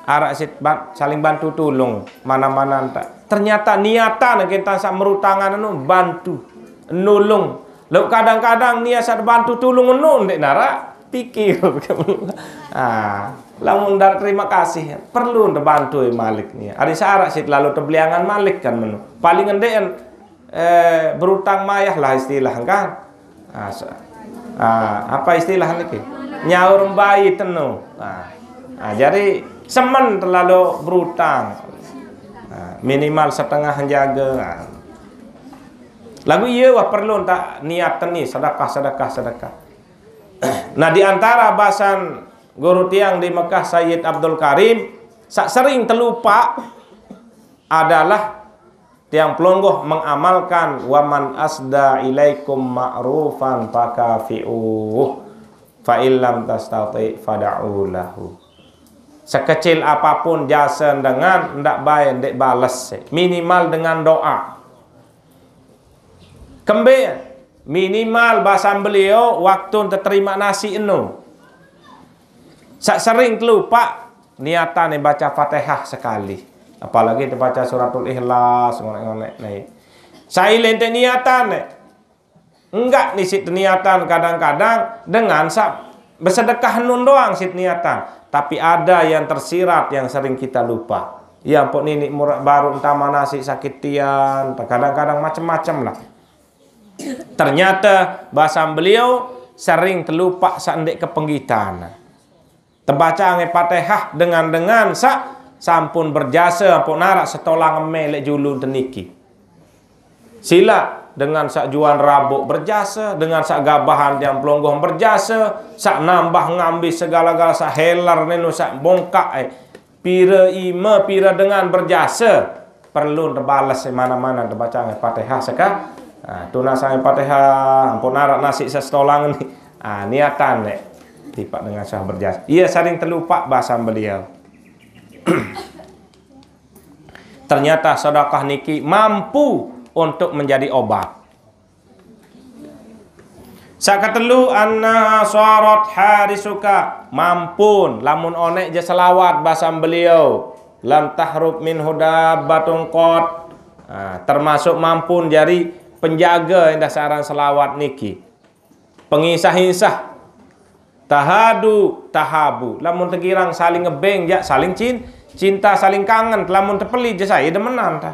arak sit ban-, saling bantu tulung, mana-mana enta. Ternyata niatan kita sa merutangan anu bantu, nulung. Lalu kadang-kadang niat sa bantu tulung anu ndek narak pikir. Ah, lamun ndak terima kasih, perlu ndak bantu malik ni. Ada syarat sit lalu terbeliangan malik kan menu. Paling ndek, eh, berutang mayah lah istilah kan. Ah, so-, ah, apa istilah niki? Nyaur mbai tenu. Ah, ah, jadi semen terlalu berutang. Ah, minimal setengah jaga. Ah. Lagu iya wah perlu tak niat ni sedekah, sedekah, sedekah. Nah, di antara basan guru tiang di Mekah, Sayyid Abdul Karim, sak sering terlupa adalah tiang pelonggoh mengamalkan, "Waman asda ilaikum ma'rufan fakafi'uh." Fa illam tastati fad'u lahu. Sekecil apapun jasa dengan, ndak bae ndak bales. Minimal dengan doa. Kembe, minimal basan beliau waktu terima nasi enu. Sak sering telupak niatan baca Fatihah sekali. Apalagi dibaca suratul Ikhlas, ngonek-ngonek nih. Sai lente niatan nih. Enggak nisi niatan kadang-kadang dengan sa-, bersedekah nun doang sit niatan. Tapi ada yang tersirat yang sering kita lupa. Ya ampun, ini murah baru entah mana si sakit tian, kadang-kadang macam-macam lah. Ternyata bahasa beliau sering terlupa seandai kepenggitan. Tebaca ange Fatihah dengan-dengan sak sampun berjasa, ampun narak setolang eme lek julun teniki. Sila dengan sak juan rabuk berjasa, dengan sak gabahan tiang pelonggoh berjasa, sak nambah ngambi segala-gala sak heler nenu sak bongkak, eh. Pira ime, pira dengan berjasa, perlu tebales mana-mana tebaca ange Fatihah seka. Ah, tunas ange Fatihah, ampun narak nasi setolang ni. Ah, niatan nek tipak dengan sah berjasa. Ia sering terlupa bahasa beliau. Ternyata sedekah niki mampu untuk menjadi obat. Sakatelu, anna sarat harisuka, mampun lamun onek je selawat basam beliau, lam tahrub min hudabbatun qat. Nah, termasuk mampun jari penjaga indah saran selawat niki. Pengisah-insah. Tahadu, tahabu. Lamun tegirang saling ngebeng, jak saling cin-, cinta, saling kangen. Lamun tepeli je saya demenan ta.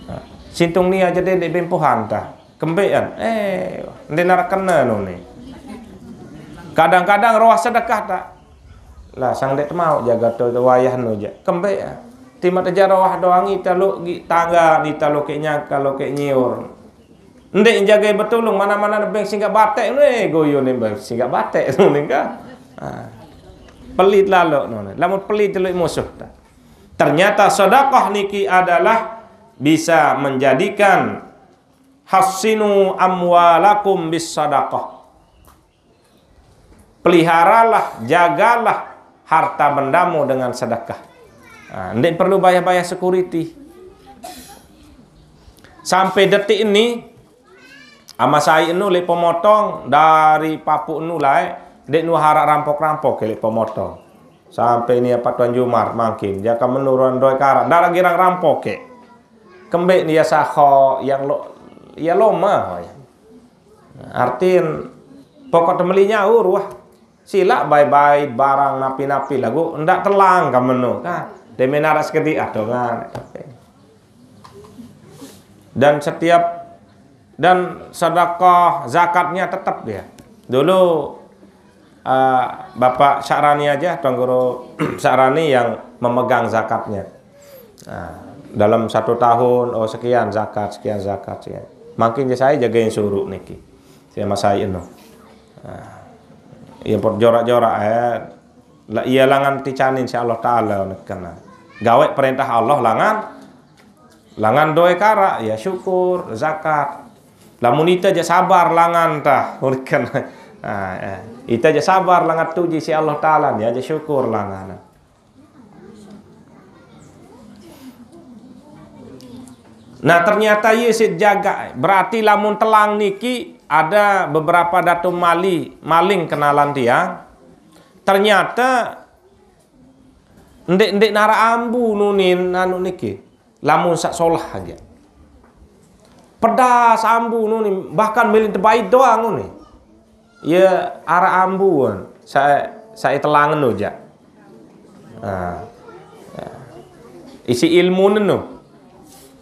Nah, sintung ni aja dek bempohan ta. Kembean. Eh, nde narak kena nu ni. Kadang-kadang roh sedekah ta. Lah, sang dek temau jaga tu wayah nu je. Kembean. Timat aja roh doang ita lu gi tangga, ita lu ke nyangka, lu ke nyiur. Ndek jagai betulung, mana-mana beng singgah batek, ne goyo ne beng singgah batek, ne ka. Ha. Pelit lalu, ne. Lamun pelit teluk musuh. Ternyata sedekah niki adalah bisa menjadikan, "Hassinu amwalakum bis sadaqah." Peliharalah, jagalah harta bendamu dengan sedekah. Nah, ndik perlu bayar-bayar security. Sampai detik ini, ama sai enu lek pemotong dari papuk enu lai, dek nu harak rampok-rampok lek pemotong. Sampai ini apa Tuan Jumar makin, jaka menurun doi karak, ndak girang rampok ke. Kembek ni ya saho yang lo, ya loma. Artin, pokok temeli nyaur wah. Silak bai-bai barang napi-napi lagu, ndak telang ka menu, kan. Demi narak sekedi adongan. Dan setiap, dan sedekah zakatnya tetap dia. Dulu, eh, Bapak Syarani aja, Tuan Guru Syarani yang memegang zakatnya. Nah, dalam satu tahun, oh, sekian zakat, sekian zakat, sekian. Makin je saya jagain suruh niki. Saya masai eno. Nah, ya, pot jorak-jorak, eh. La, iya langan ticanin si Allah Ta'ala, kena. Gawe perintah Allah langan, langan doe karak, ya syukur, zakat. Lamun ita je sabar langan tah, kena. Nah, eh. Ita je sabar langan tuji si Allah Ta'ala, ya je syukur langan. Nah, ternyata ye sit jaga. Berarti lamun telang niki ada beberapa datu mali, maling kenalan tiang. Ternyata ndik-ndik nara ambu nunin anu niki. Lamun sak solah aja. Pedas ambu nuni, bahkan milih tebai doang nuni. Ya, ara ambuan, saya, saya telangen aja. Nah, ya. Isi ilmu nenu.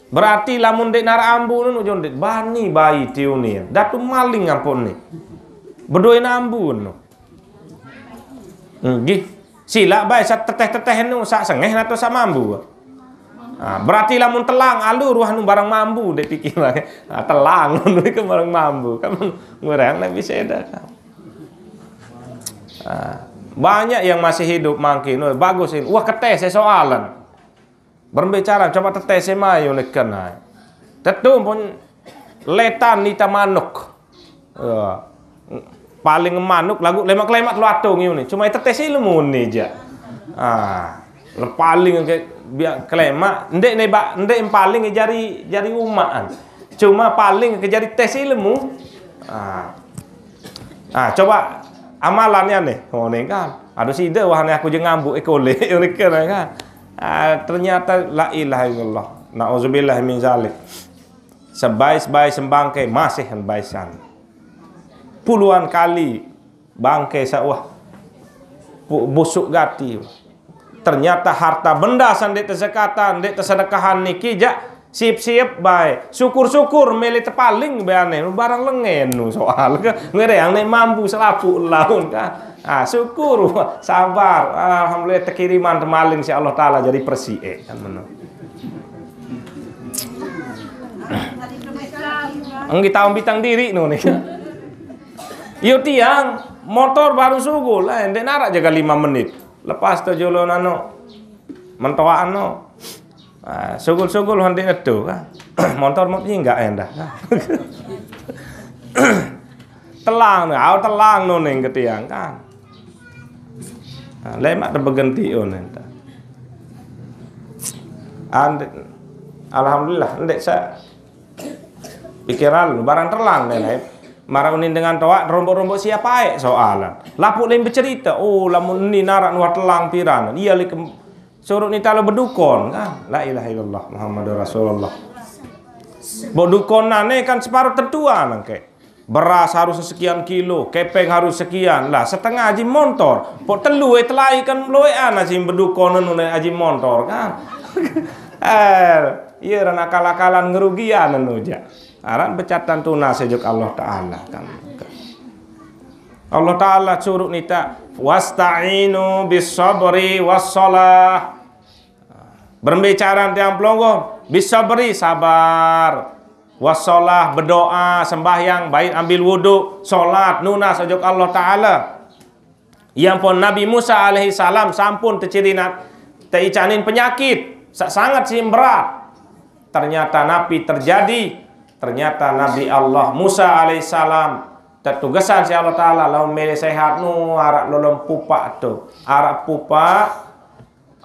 Berarti lamun dek nara ambu nenu, jon dek bani bayi tiuni. Datu maling ampun ni. Bedoin ambu nenu. Hmm, gih. Sila bae sa teteh-teteh nu sa sengeh atau sa mambu. Ah, berarti lamun telang alu ruah nu barang mambu dek pikir. Ah, telang nu ke barang mambu. Kan ngurang nak bisa dah. Ah, banyak yang masih hidup mangkin. Wah, bagus ini. Wah, ketes soalan. Berbicara coba tetes mayu neken ai. Tetu pun letan nita manuk. Ya. paling manuk lagu lemak-lemak lu atung ini. Cuma itu tes ilmu ni je. Ah, paling ke biar kelemak, ndek ne bak, ndek paling jari, jari umaan. Cuma paling ke jari tes ilmu. Ah. Ah, coba amalannya nih. Oh, nih kan. Aduh sida wah nih aku je ngambuk ekole kan. Ah, ternyata la ilaha illallah. Nauzubillah min zalik. Sebai-sebai sembangke masih baisan. Puluhan kali bangke sawah. Bu-, busuk gati. Ternyata harta benda sandek tesekatan, ndek tesedekahan niki jak siap-siap bae. Syukur-syukur mele tepaling beane barang lengen nu soal ke. Ngereang nek mampu selapuq laun kan. Ah, syukur, sabar. Alhamdulillah tekiriman temaling si Allah Taala jadi persiq, eh, kan meno. Enggi taun bitang diri nu ni. Yo tiang, motor baru sugul, eh, ndek narak jaga lima menit. Lepas tu julun anu, mentoaan no. Ah, sugul-sugul hondik netu kan. Motor mau nyinggak endah kan. Telang ni, au telang no ning ke tiang kan. Ah, lemak tu bergenti on endah. Ande-, alhamdulillah, ndek sa pikiran lu barang telang deh, lain. Marah unin dengan toak, rombok-rombok siapa ae soalan. Lapuk lain bercerita, oh, lamun ni narak nuah telang piran. Iya li ke-, suruh ni talo bedukon kan. La ilaha illallah Muhammadur Rasulullah. Bok dukon nane kan separuh tentuan angke. Beras harus sekian kilo, kepeng harus sekian. Lah, setengah aji montor. Pok telu eh telai kan loean aji bedukon anu ne aji montor kan. Eh, iya ran akal-akalan ngerugian anu ja. Aran becatan tunas sejuk Allah Taala kan. Allah Taala suruh nita, "Wasta'inu bis sabri was salah." Berembe caran tiang pelungguh, bis sabri sabar. Was salah berdoa, sembahyang, baik ambil wuduk, salat, nunas ojok Allah Taala. Yang pun Nabi Musa alaihi salam sampun tercirinat, teicanin penyakit, sa-, sangat sih berat. Ternyata napi terjadi, ternyata Nabi Allah Musa alaihi salam tetugesan si Allah Taala lawan mele sehat nu arak lolom pupak tu. Arak pupak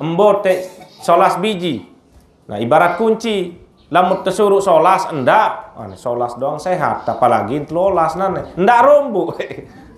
embo te solas biji. Nah, ibarat kunci. Lamun tesuruh solas, ndak. Ah, solas doang sehat, apalagi telolas nane. Ndak rombo.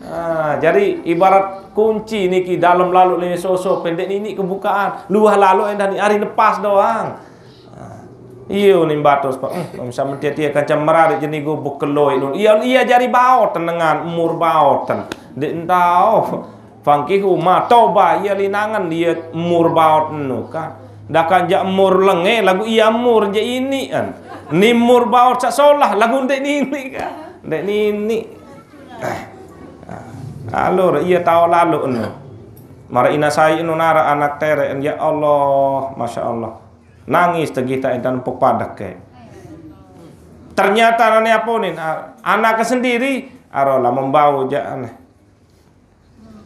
Ah, jadi ibarat kunci niki dalam lalu lini soso pendek nini kebukaan. Luah lalu endah ni hari lepas doang. Ah, iyo ni batus, Pak. Hmm, bisa mentia-tia kancam merarit jeni gubuk keloi lu. Iya, iya jari baoten dengan umur baoten. Dek entau. Fangkihu ma toba iya linangan iya mur baot enu kan. Dakan jak mur lenge lagu iya mur je ini kan. Ni mur baot sak solah lagu ndek nini kan. Ndek nini. Eh. Alur iya tao lalu enu. Mara ina sai enu nara anak tere, ya Allah, masya Allah. Nangis tegih tak intan puk padek ke. Ternyata nane aponin, a-, anaknya sendiri, arolah membau jak aneh.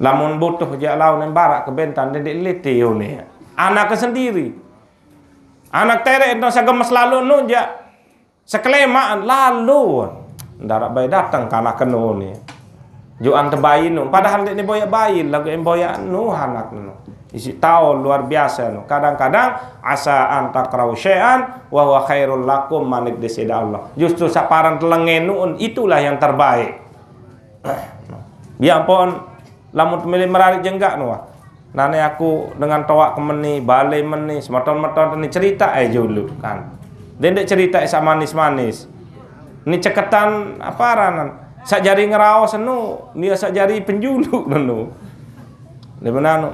Lamun butuh jak laun yang barak ke bentan, dedek liti yo ni. Anaknya sendiri. Anak tere ento sagemes lalu nu jak sekelemaan lalu. Ndarak bae datang ke anak kenu ni. Juan tebayi nu. Padahal dek ni boyak bayi, lagu yang boyak nu anak nu. Isi tahu luar biasa nu. Kadang-kadang asa antakrau syai'an wa huwa khairul lakum manik desida Allah. Justru saparan telengen nu itulah yang terbaik. Biar pun lamun temili merarit jenggak nu. Nane aku dengan toak ke meni, bale meni, semeton-meton ni cerita eh julu kan. Dendek cerita eh sak manis-manis. Ni ceketan apa aranan? Sak jari ngeraos enu, ni sak jari penjulu enu. Di mana nu?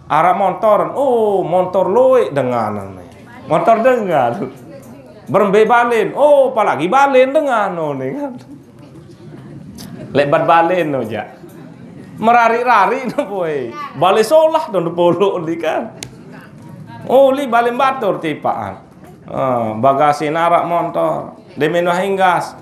Arak montor, oh montor loik dengan ni. Montor dengan. Berembe balen, oh apalagi balen dengan nu ni kan. Lebat balen no jak. Merari-rari no boy. Bale solah don depolok ni kan. Oh li balen batur tipaan. Ah, bagasi narak montor. Demi no hinggas.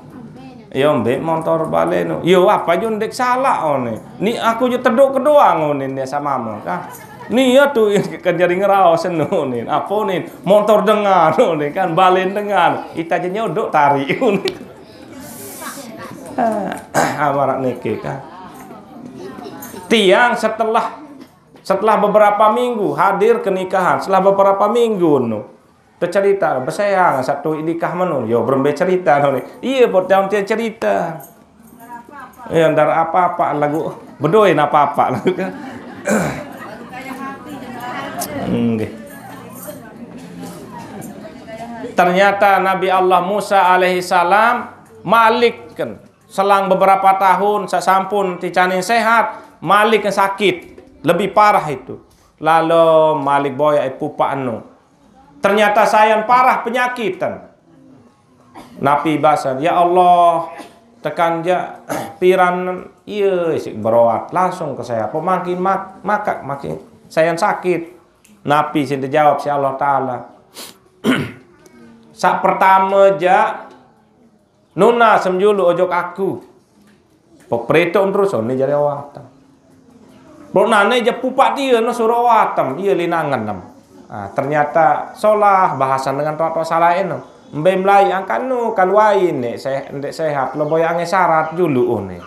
Yo mbek montor balen no. Yo apa jo ndek salah one. Ni aku jo tedok kedoang one ni sama mo kan. Ni ya tu kan jadi ngeraos no ni. Apa ni? Montor dengan no ni kan balen dengan. Ita je nyodok tarik ni. Ah, amarak niki kan. Tiang setelah, setelah beberapa minggu hadir ke nikahan, setelah beberapa minggu nu, tercerita, beseang satu nikah menu, yo berembe cerita nu ni. Iya, buat daun tiang cerita. Ya, ndar apa-apa lagu, bedoin apa-apa lagu kan. Nggih. Ternyata Nabi Allah Musa alaihi salam malik kan. Selang beberapa tahun, sasampun ticanin sehat, malik sakit, lebih parah itu. Lalu malik boya ipupa anu. Ternyata sayan parah penyakitan. Napi basan, "Ya Allah, tekan ja piran iya isik beroat langsung ke saya. Pemangkin mak makak makin sayan sakit." Napi sing dijawab si Allah Taala. Sak pertama ja nuna semjulu ojok aku. Pepretok terus, oh, ni jari awatan. Bro nane je pupak dia no suruh awatan, dia linangan nam. Ah, ternyata solah bahasan dengan tok-tok salah eno. Mbe melai angkan nu kan wain nek se ndek sehat lo boya ange syarat julu oh ni.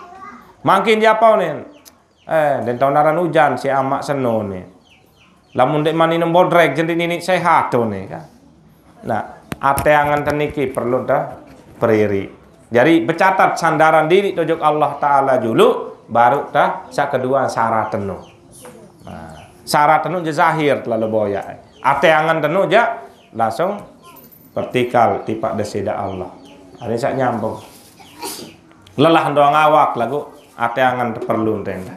Mangkin dia apa ni? Eh, den tau naran ujan si amak seno ni. Lamun dek mani nembodrek jendik nini sehat tu ni kan. Nah, ate angan teniki perlu dah periri. Jadi becatat sandaran diri tujuk Allah Taala julu, baru dah sak kedua syarat tenu. Nah, syarat tenu je zahir terlalu boyak. Ate angan tenu je langsung vertikal tipak desida Allah. Ada sak nyambung. Lelah doang awak lagu ate angan perlu tenda.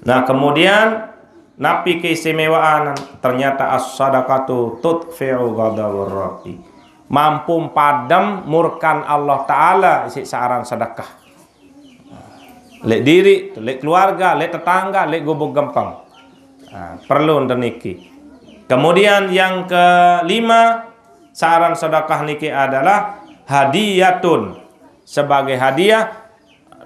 Nah, kemudian napi keistimewaan? Ternyata as-sadaqatu tutfi'u ghadabur rabbi. Mampu padam murkan Allah Taala isi saaran sedekah. Lek diri, lek keluarga, lek tetangga, lek gubuk gempeng. Nah, perlu niki. Kemudian yang kelima, saaran sedekah niki adalah hadiyatun, sebagai hadiah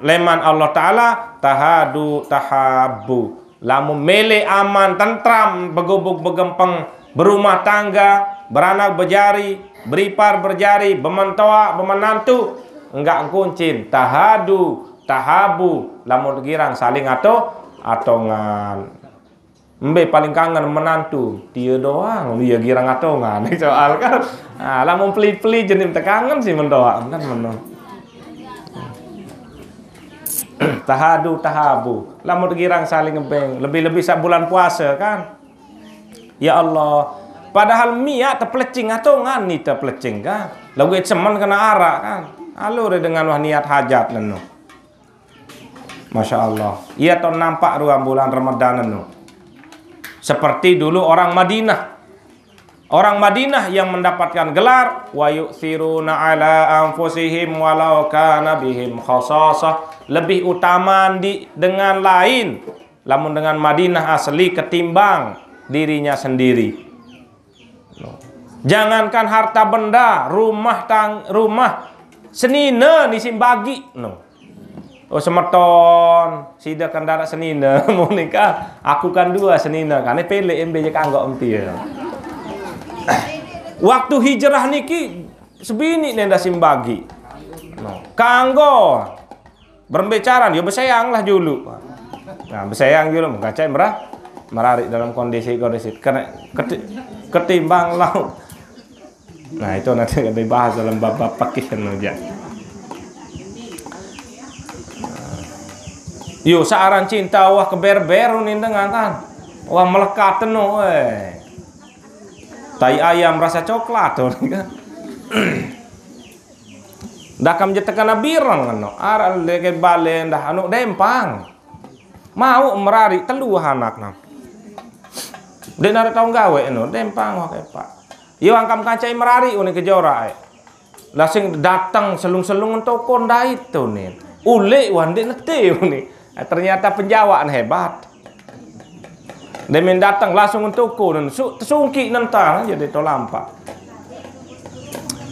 leman Allah Taala, tahadu tahabu. Lamun mele aman tentram begubuk begempeng berumah tangga, beranak bejari, beripar berjari, bementoa bemenantu, enggak ngkuncin tahadu tahabu, lamun girang saling ato atongan. Mbe paling kangen menantu, dia doang, dia girang atongan. Soal kan, ah, lamun peli-peli jenim tekangen sih mendoa kan meno. Tahadu tahabu, lamun girang saling ngebeng, lebih-lebih saat bulan puasa kan. Ya Allah, padahal miak tepelecing atongan ni tepelecing kan. Lagu semen kena arak kan. Alur dengan wah niat hajat nenu. Masya Allah. Ia tahu nampak ruang bulan Ramadan itu. Seperti dulu orang Madinah. Orang Madinah yang mendapatkan gelar wa yu'thiruna ala anfusihim walau kana bihim khasasah, lebih utama di dengan lain lamun dengan Madinah asli ketimbang dirinya sendiri. Jangankan harta benda, rumah tang rumah senine ni sing bagi. No. Oh, semeton, sida kan darak senine, mau nikah, aku kan dua senine, kan pelek embe je kanggo empil. Waktu hijrah niki sebini nenda sing bagi. No. Kanggo berembe caran, yo beseang lah julu. Nah, beseang julu, mengkacai merah, merarik dalam kondisi kondisi kena keti, ketimbang laut. Nah, itu nanti akan dibahas dalam bab-bab fikih kan aja. Yo, searan cinta wah keber-ber ni dengan kan. Wah melekat no, eh. Tai ayam rasa coklat tu kan. Dakam je tekana bireng no. Aran leke bale ndah anu dempang. Mau merari telu anak nam. Dek nara tau gawe no, dempang wah kepak. Yo angkam kancai merari uni kejora ai. Lah sing dateng selung-selung toko ndait tu ni. Ulik wah ndik nete uni. Ternyata penjawaan hebat. Demen dateng langsung toko nen su, tesungki nentang jadi to lampak.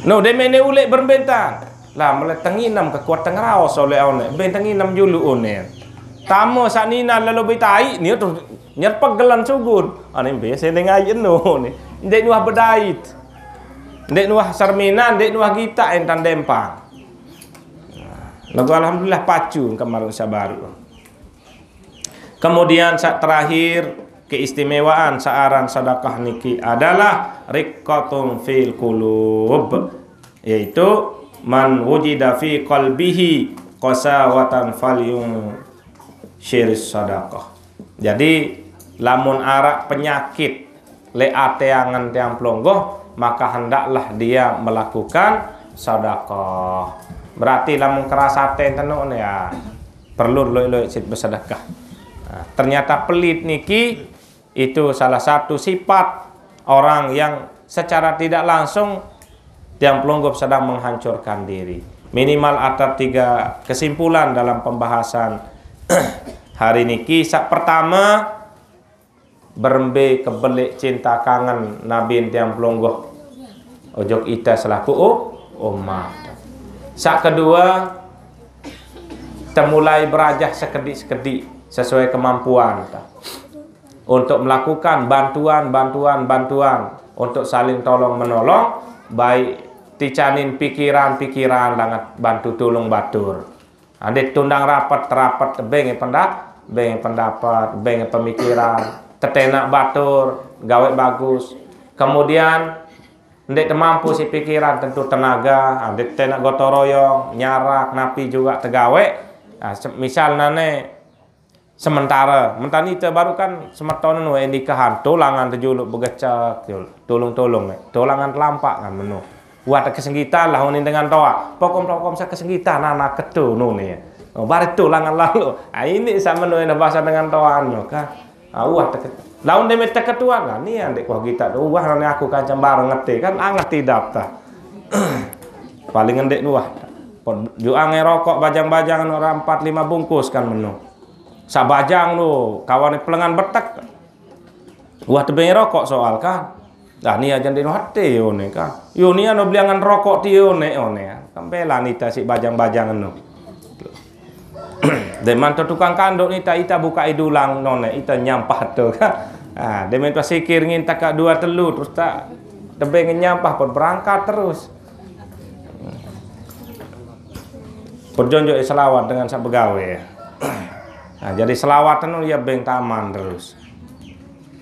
No, demen ne ulik berembentan. Lah mele tenginem kekuat tengraos oleh one. Ben tenginem julu one. Tamo sak nina lelo betai ni tu nyerpek gelan sugun. Ane biasa ning ayen no ni. Ndek nuah bedait. Ndek nuah serminan, ndek nuah gita entan dempang. Lagu alhamdulillah pacu kemarin sabaru. Kemudian, sak terakhir, keistimewaan saaran sedekah niki adalah riqqatun fil qulub, yaitu man wujida fi qalbihi qasawatan falyunsyir sadaqah. Jadi, lamun arak penyakit le ate angen tiang pelungguh, maka hendaklah dia melakukan sedekah. Berarti lamun keras ate tenuk ni, ya, perlu loi-loi sit bersedekah. Nah, ternyata pelit niki itu salah satu sifat orang yang secara tidak langsung tiang pelungguh sedang menghancurkan diri. Minimal ada tiga kesimpulan dalam pembahasan hari niki. Sak pertama, berembe kebelik cinta kangen nabi tiang pelungguh ojok ita selaku u-, umat. Sak kedua, temulai berajah sekedik-sekedik sesuai kemampuan ta, untuk melakukan bantuan, bantuan, bantuan untuk saling tolong menolong, baik ticanin pikiran-pikiran langat bantu tulung batur. Ande tundang rapet, rapet beng pendap-, beng pendapat, beng pemikiran, tetenak batur, gawe bagus. Kemudian, ndek temampu si pikiran, tentu tenaga, ande tenak gotong royong, nyarak, napi juga tegawe. Nah, se-, misal nane sementara, mentani te baru kan semeton nu, eh, nikahan, tulangan tejuluk begecek, jul-, tulung-tulung, eh, tulangan telampak kan menu. Wah, tak kesenggitan lah unin dengan toa. Pokom-pokom sa kesenggitan, anak ketu nu ni. Oh, baru tulangan lalu. Ah, ini sama nu yang bahasa dengan toa nu, kan. Ah, wah, tak ke-, laun demi tak ketuan lah. Ni yang dek wah kita tu. Wah, ni aku kancam baru ngerti, kan. Ah, ngerti dap ta. Paling ngendek nu, wah. Pot juang rokok bajang-bajang nu orang empat lima bungkus kan menu. Sabajang tu, kawan ni pelengan betek. Wah, tebeng rokok soal kan. Dah ni aja ndek nu hati yo ne kan. Yo ni ano beliangan rokok ti yo ne, yo ne. Kembela nita si bajang-bajang nu. Deman tu tukang kanduk nita, ita buka idulang none, ita nyampah tu kan. Ah, demen tu sikir ngin takak dua telu, terus tak tebeng nyampah pun berangkat terus. Perjonjok selawat dengan sak begawe. Nah, jadi selawat tu ya beng taman terus.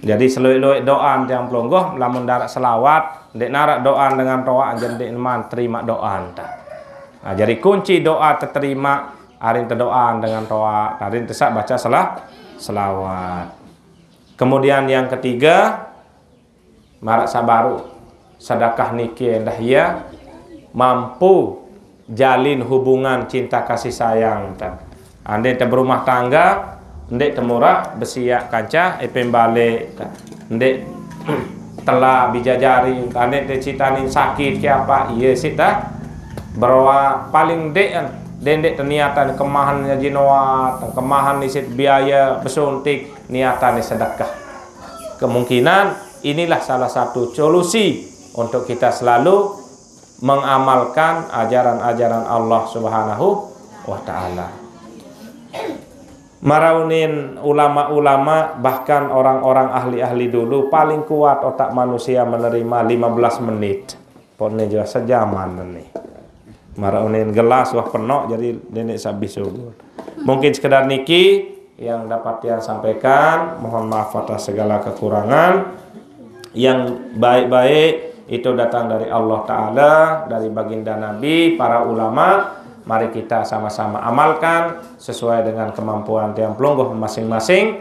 Jadi seluik-luik doa tiang pelungguh, lamun darak selawat, ndek narak doa dengan toa, aja ndek man terima doa ta. Nah, jadi kunci doa terterima, arin tedoa dengan toa, arin tesak baca selah-, selawat. Kemudian yang ketiga, marak sabaru, sedekah niki endah ia mampu jalin hubungan cinta kasih sayang ta. Ande te berumah tangga, ndek temurah besiak kanca epem balik ta. Ndek tela bijajari, ande te citanin sakit ke apa, iye sit ta. Beroa paling ndek kan, ndek, ndek teniatan kemahan ngaji noat, kemahan isit biaya besuntik, niatan sedekah. Kemungkinan inilah salah satu solusi untuk kita selalu mengamalkan ajaran-ajaran Allah Subhanahu wa Ta'ala. Maraunin ulama-ulama, bahkan orang-orang ahli-ahli dulu, paling kuat otak manusia menerima lima belas menit. Pone juga sejaman ni. Maraunin gelas wah penok, jadi nenek sabih subur. Mungkin sekedar niki yang dapat tiang sampaikan. Mohon maaf atas segala kekurangan. Yang baik-baik itu datang dari Allah Ta'ala, dari baginda Nabi, para ulama. Mari kita sama-sama amalkan sesuai dengan kemampuan tiang pelungguh masing-masing.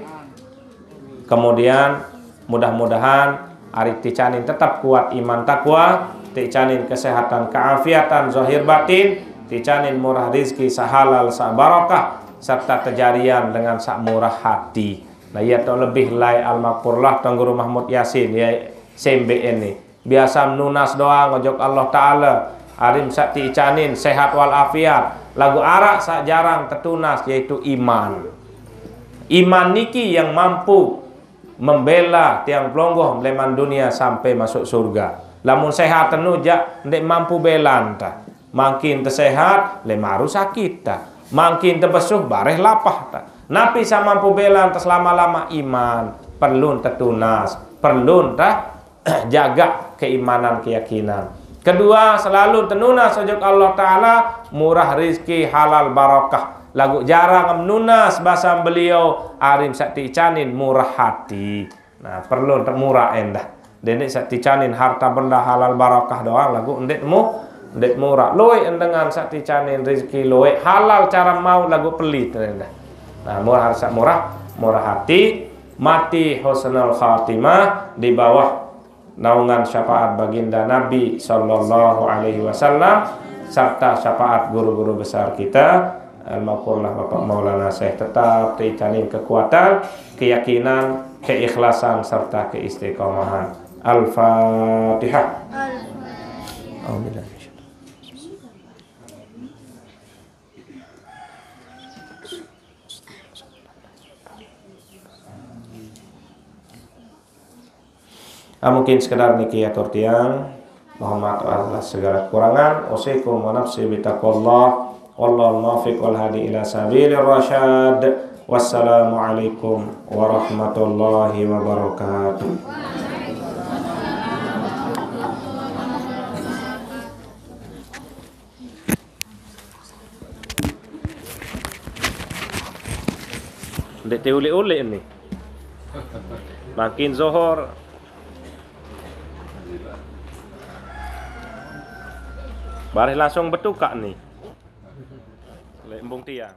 Kemudian, mudah-mudahan ari ticanin tetap kuat iman takwa, ticanin kesehatan keafiatan zahir batin, ticanin murah rizki sahalal sabarakah, serta tejarian dengan sak murah hati. Nah, ia tu lebih lai almarhumlah Tuan Guru Mahmud Yasin, ya, sembe ini. Biasa nunas doa ngojok Allah Ta'ala, arim sak ticanin sehat wal afiat. Lagu arak sak jarang tetunas, yaitu iman. Iman niki yang mampu membela tiang pelungguh meleman dunia sampai masuk surga. Lamun sehat tenu jak ndek mampu belan ta. Makin tesehat, lemaru sakit ta. Makin tebesuh, bareh lapah ta. Napi sa mampu belan ta selama-lama iman, perlu tetunas, perlu ta jaga keimanan, keyakinan. Kedua, selalu tenunas ojok Allah Ta'ala, murah rizki, halal barakah. Laguq jarang nunas basa beliau, ari saq teicanin murah ati. Nah, perlu ndeq murah endah. Dendeq saq teicanin harta benda halal barakah doang, laguq ndeq mu-, ndeq murah. Lueq dengan saq teicanin rezeki lueq, halal cara mauq laguq pelit endah. Nah, murah saq murah, murah ati, mati husnul khatimah di bawah naungan syafaat baginda Nabi sallallahu alaihi wasallam, serta syafaat guru-guru besar kita, almarhumlah Bapak Maulana Syekh, tetap teicanin kekuatan, keyakinan, keikhlasan, serta keistiqomahan. Al-Fatihah. Alhamdulillah. Ah, mungkin sekedar niki atur tiang. Mohon maaf atas segala kekurangan. Usikum wa nafsi bitaqwallah. Wallahul muwaffiq wal hadi ila sabilir rasyad. Wassalamualaikum warahmatullahi wabarakatuh. Ndeq teuleq-uleq ni. Makin Zohor. Bareh langsung betukaq ni. Leq embung tiang.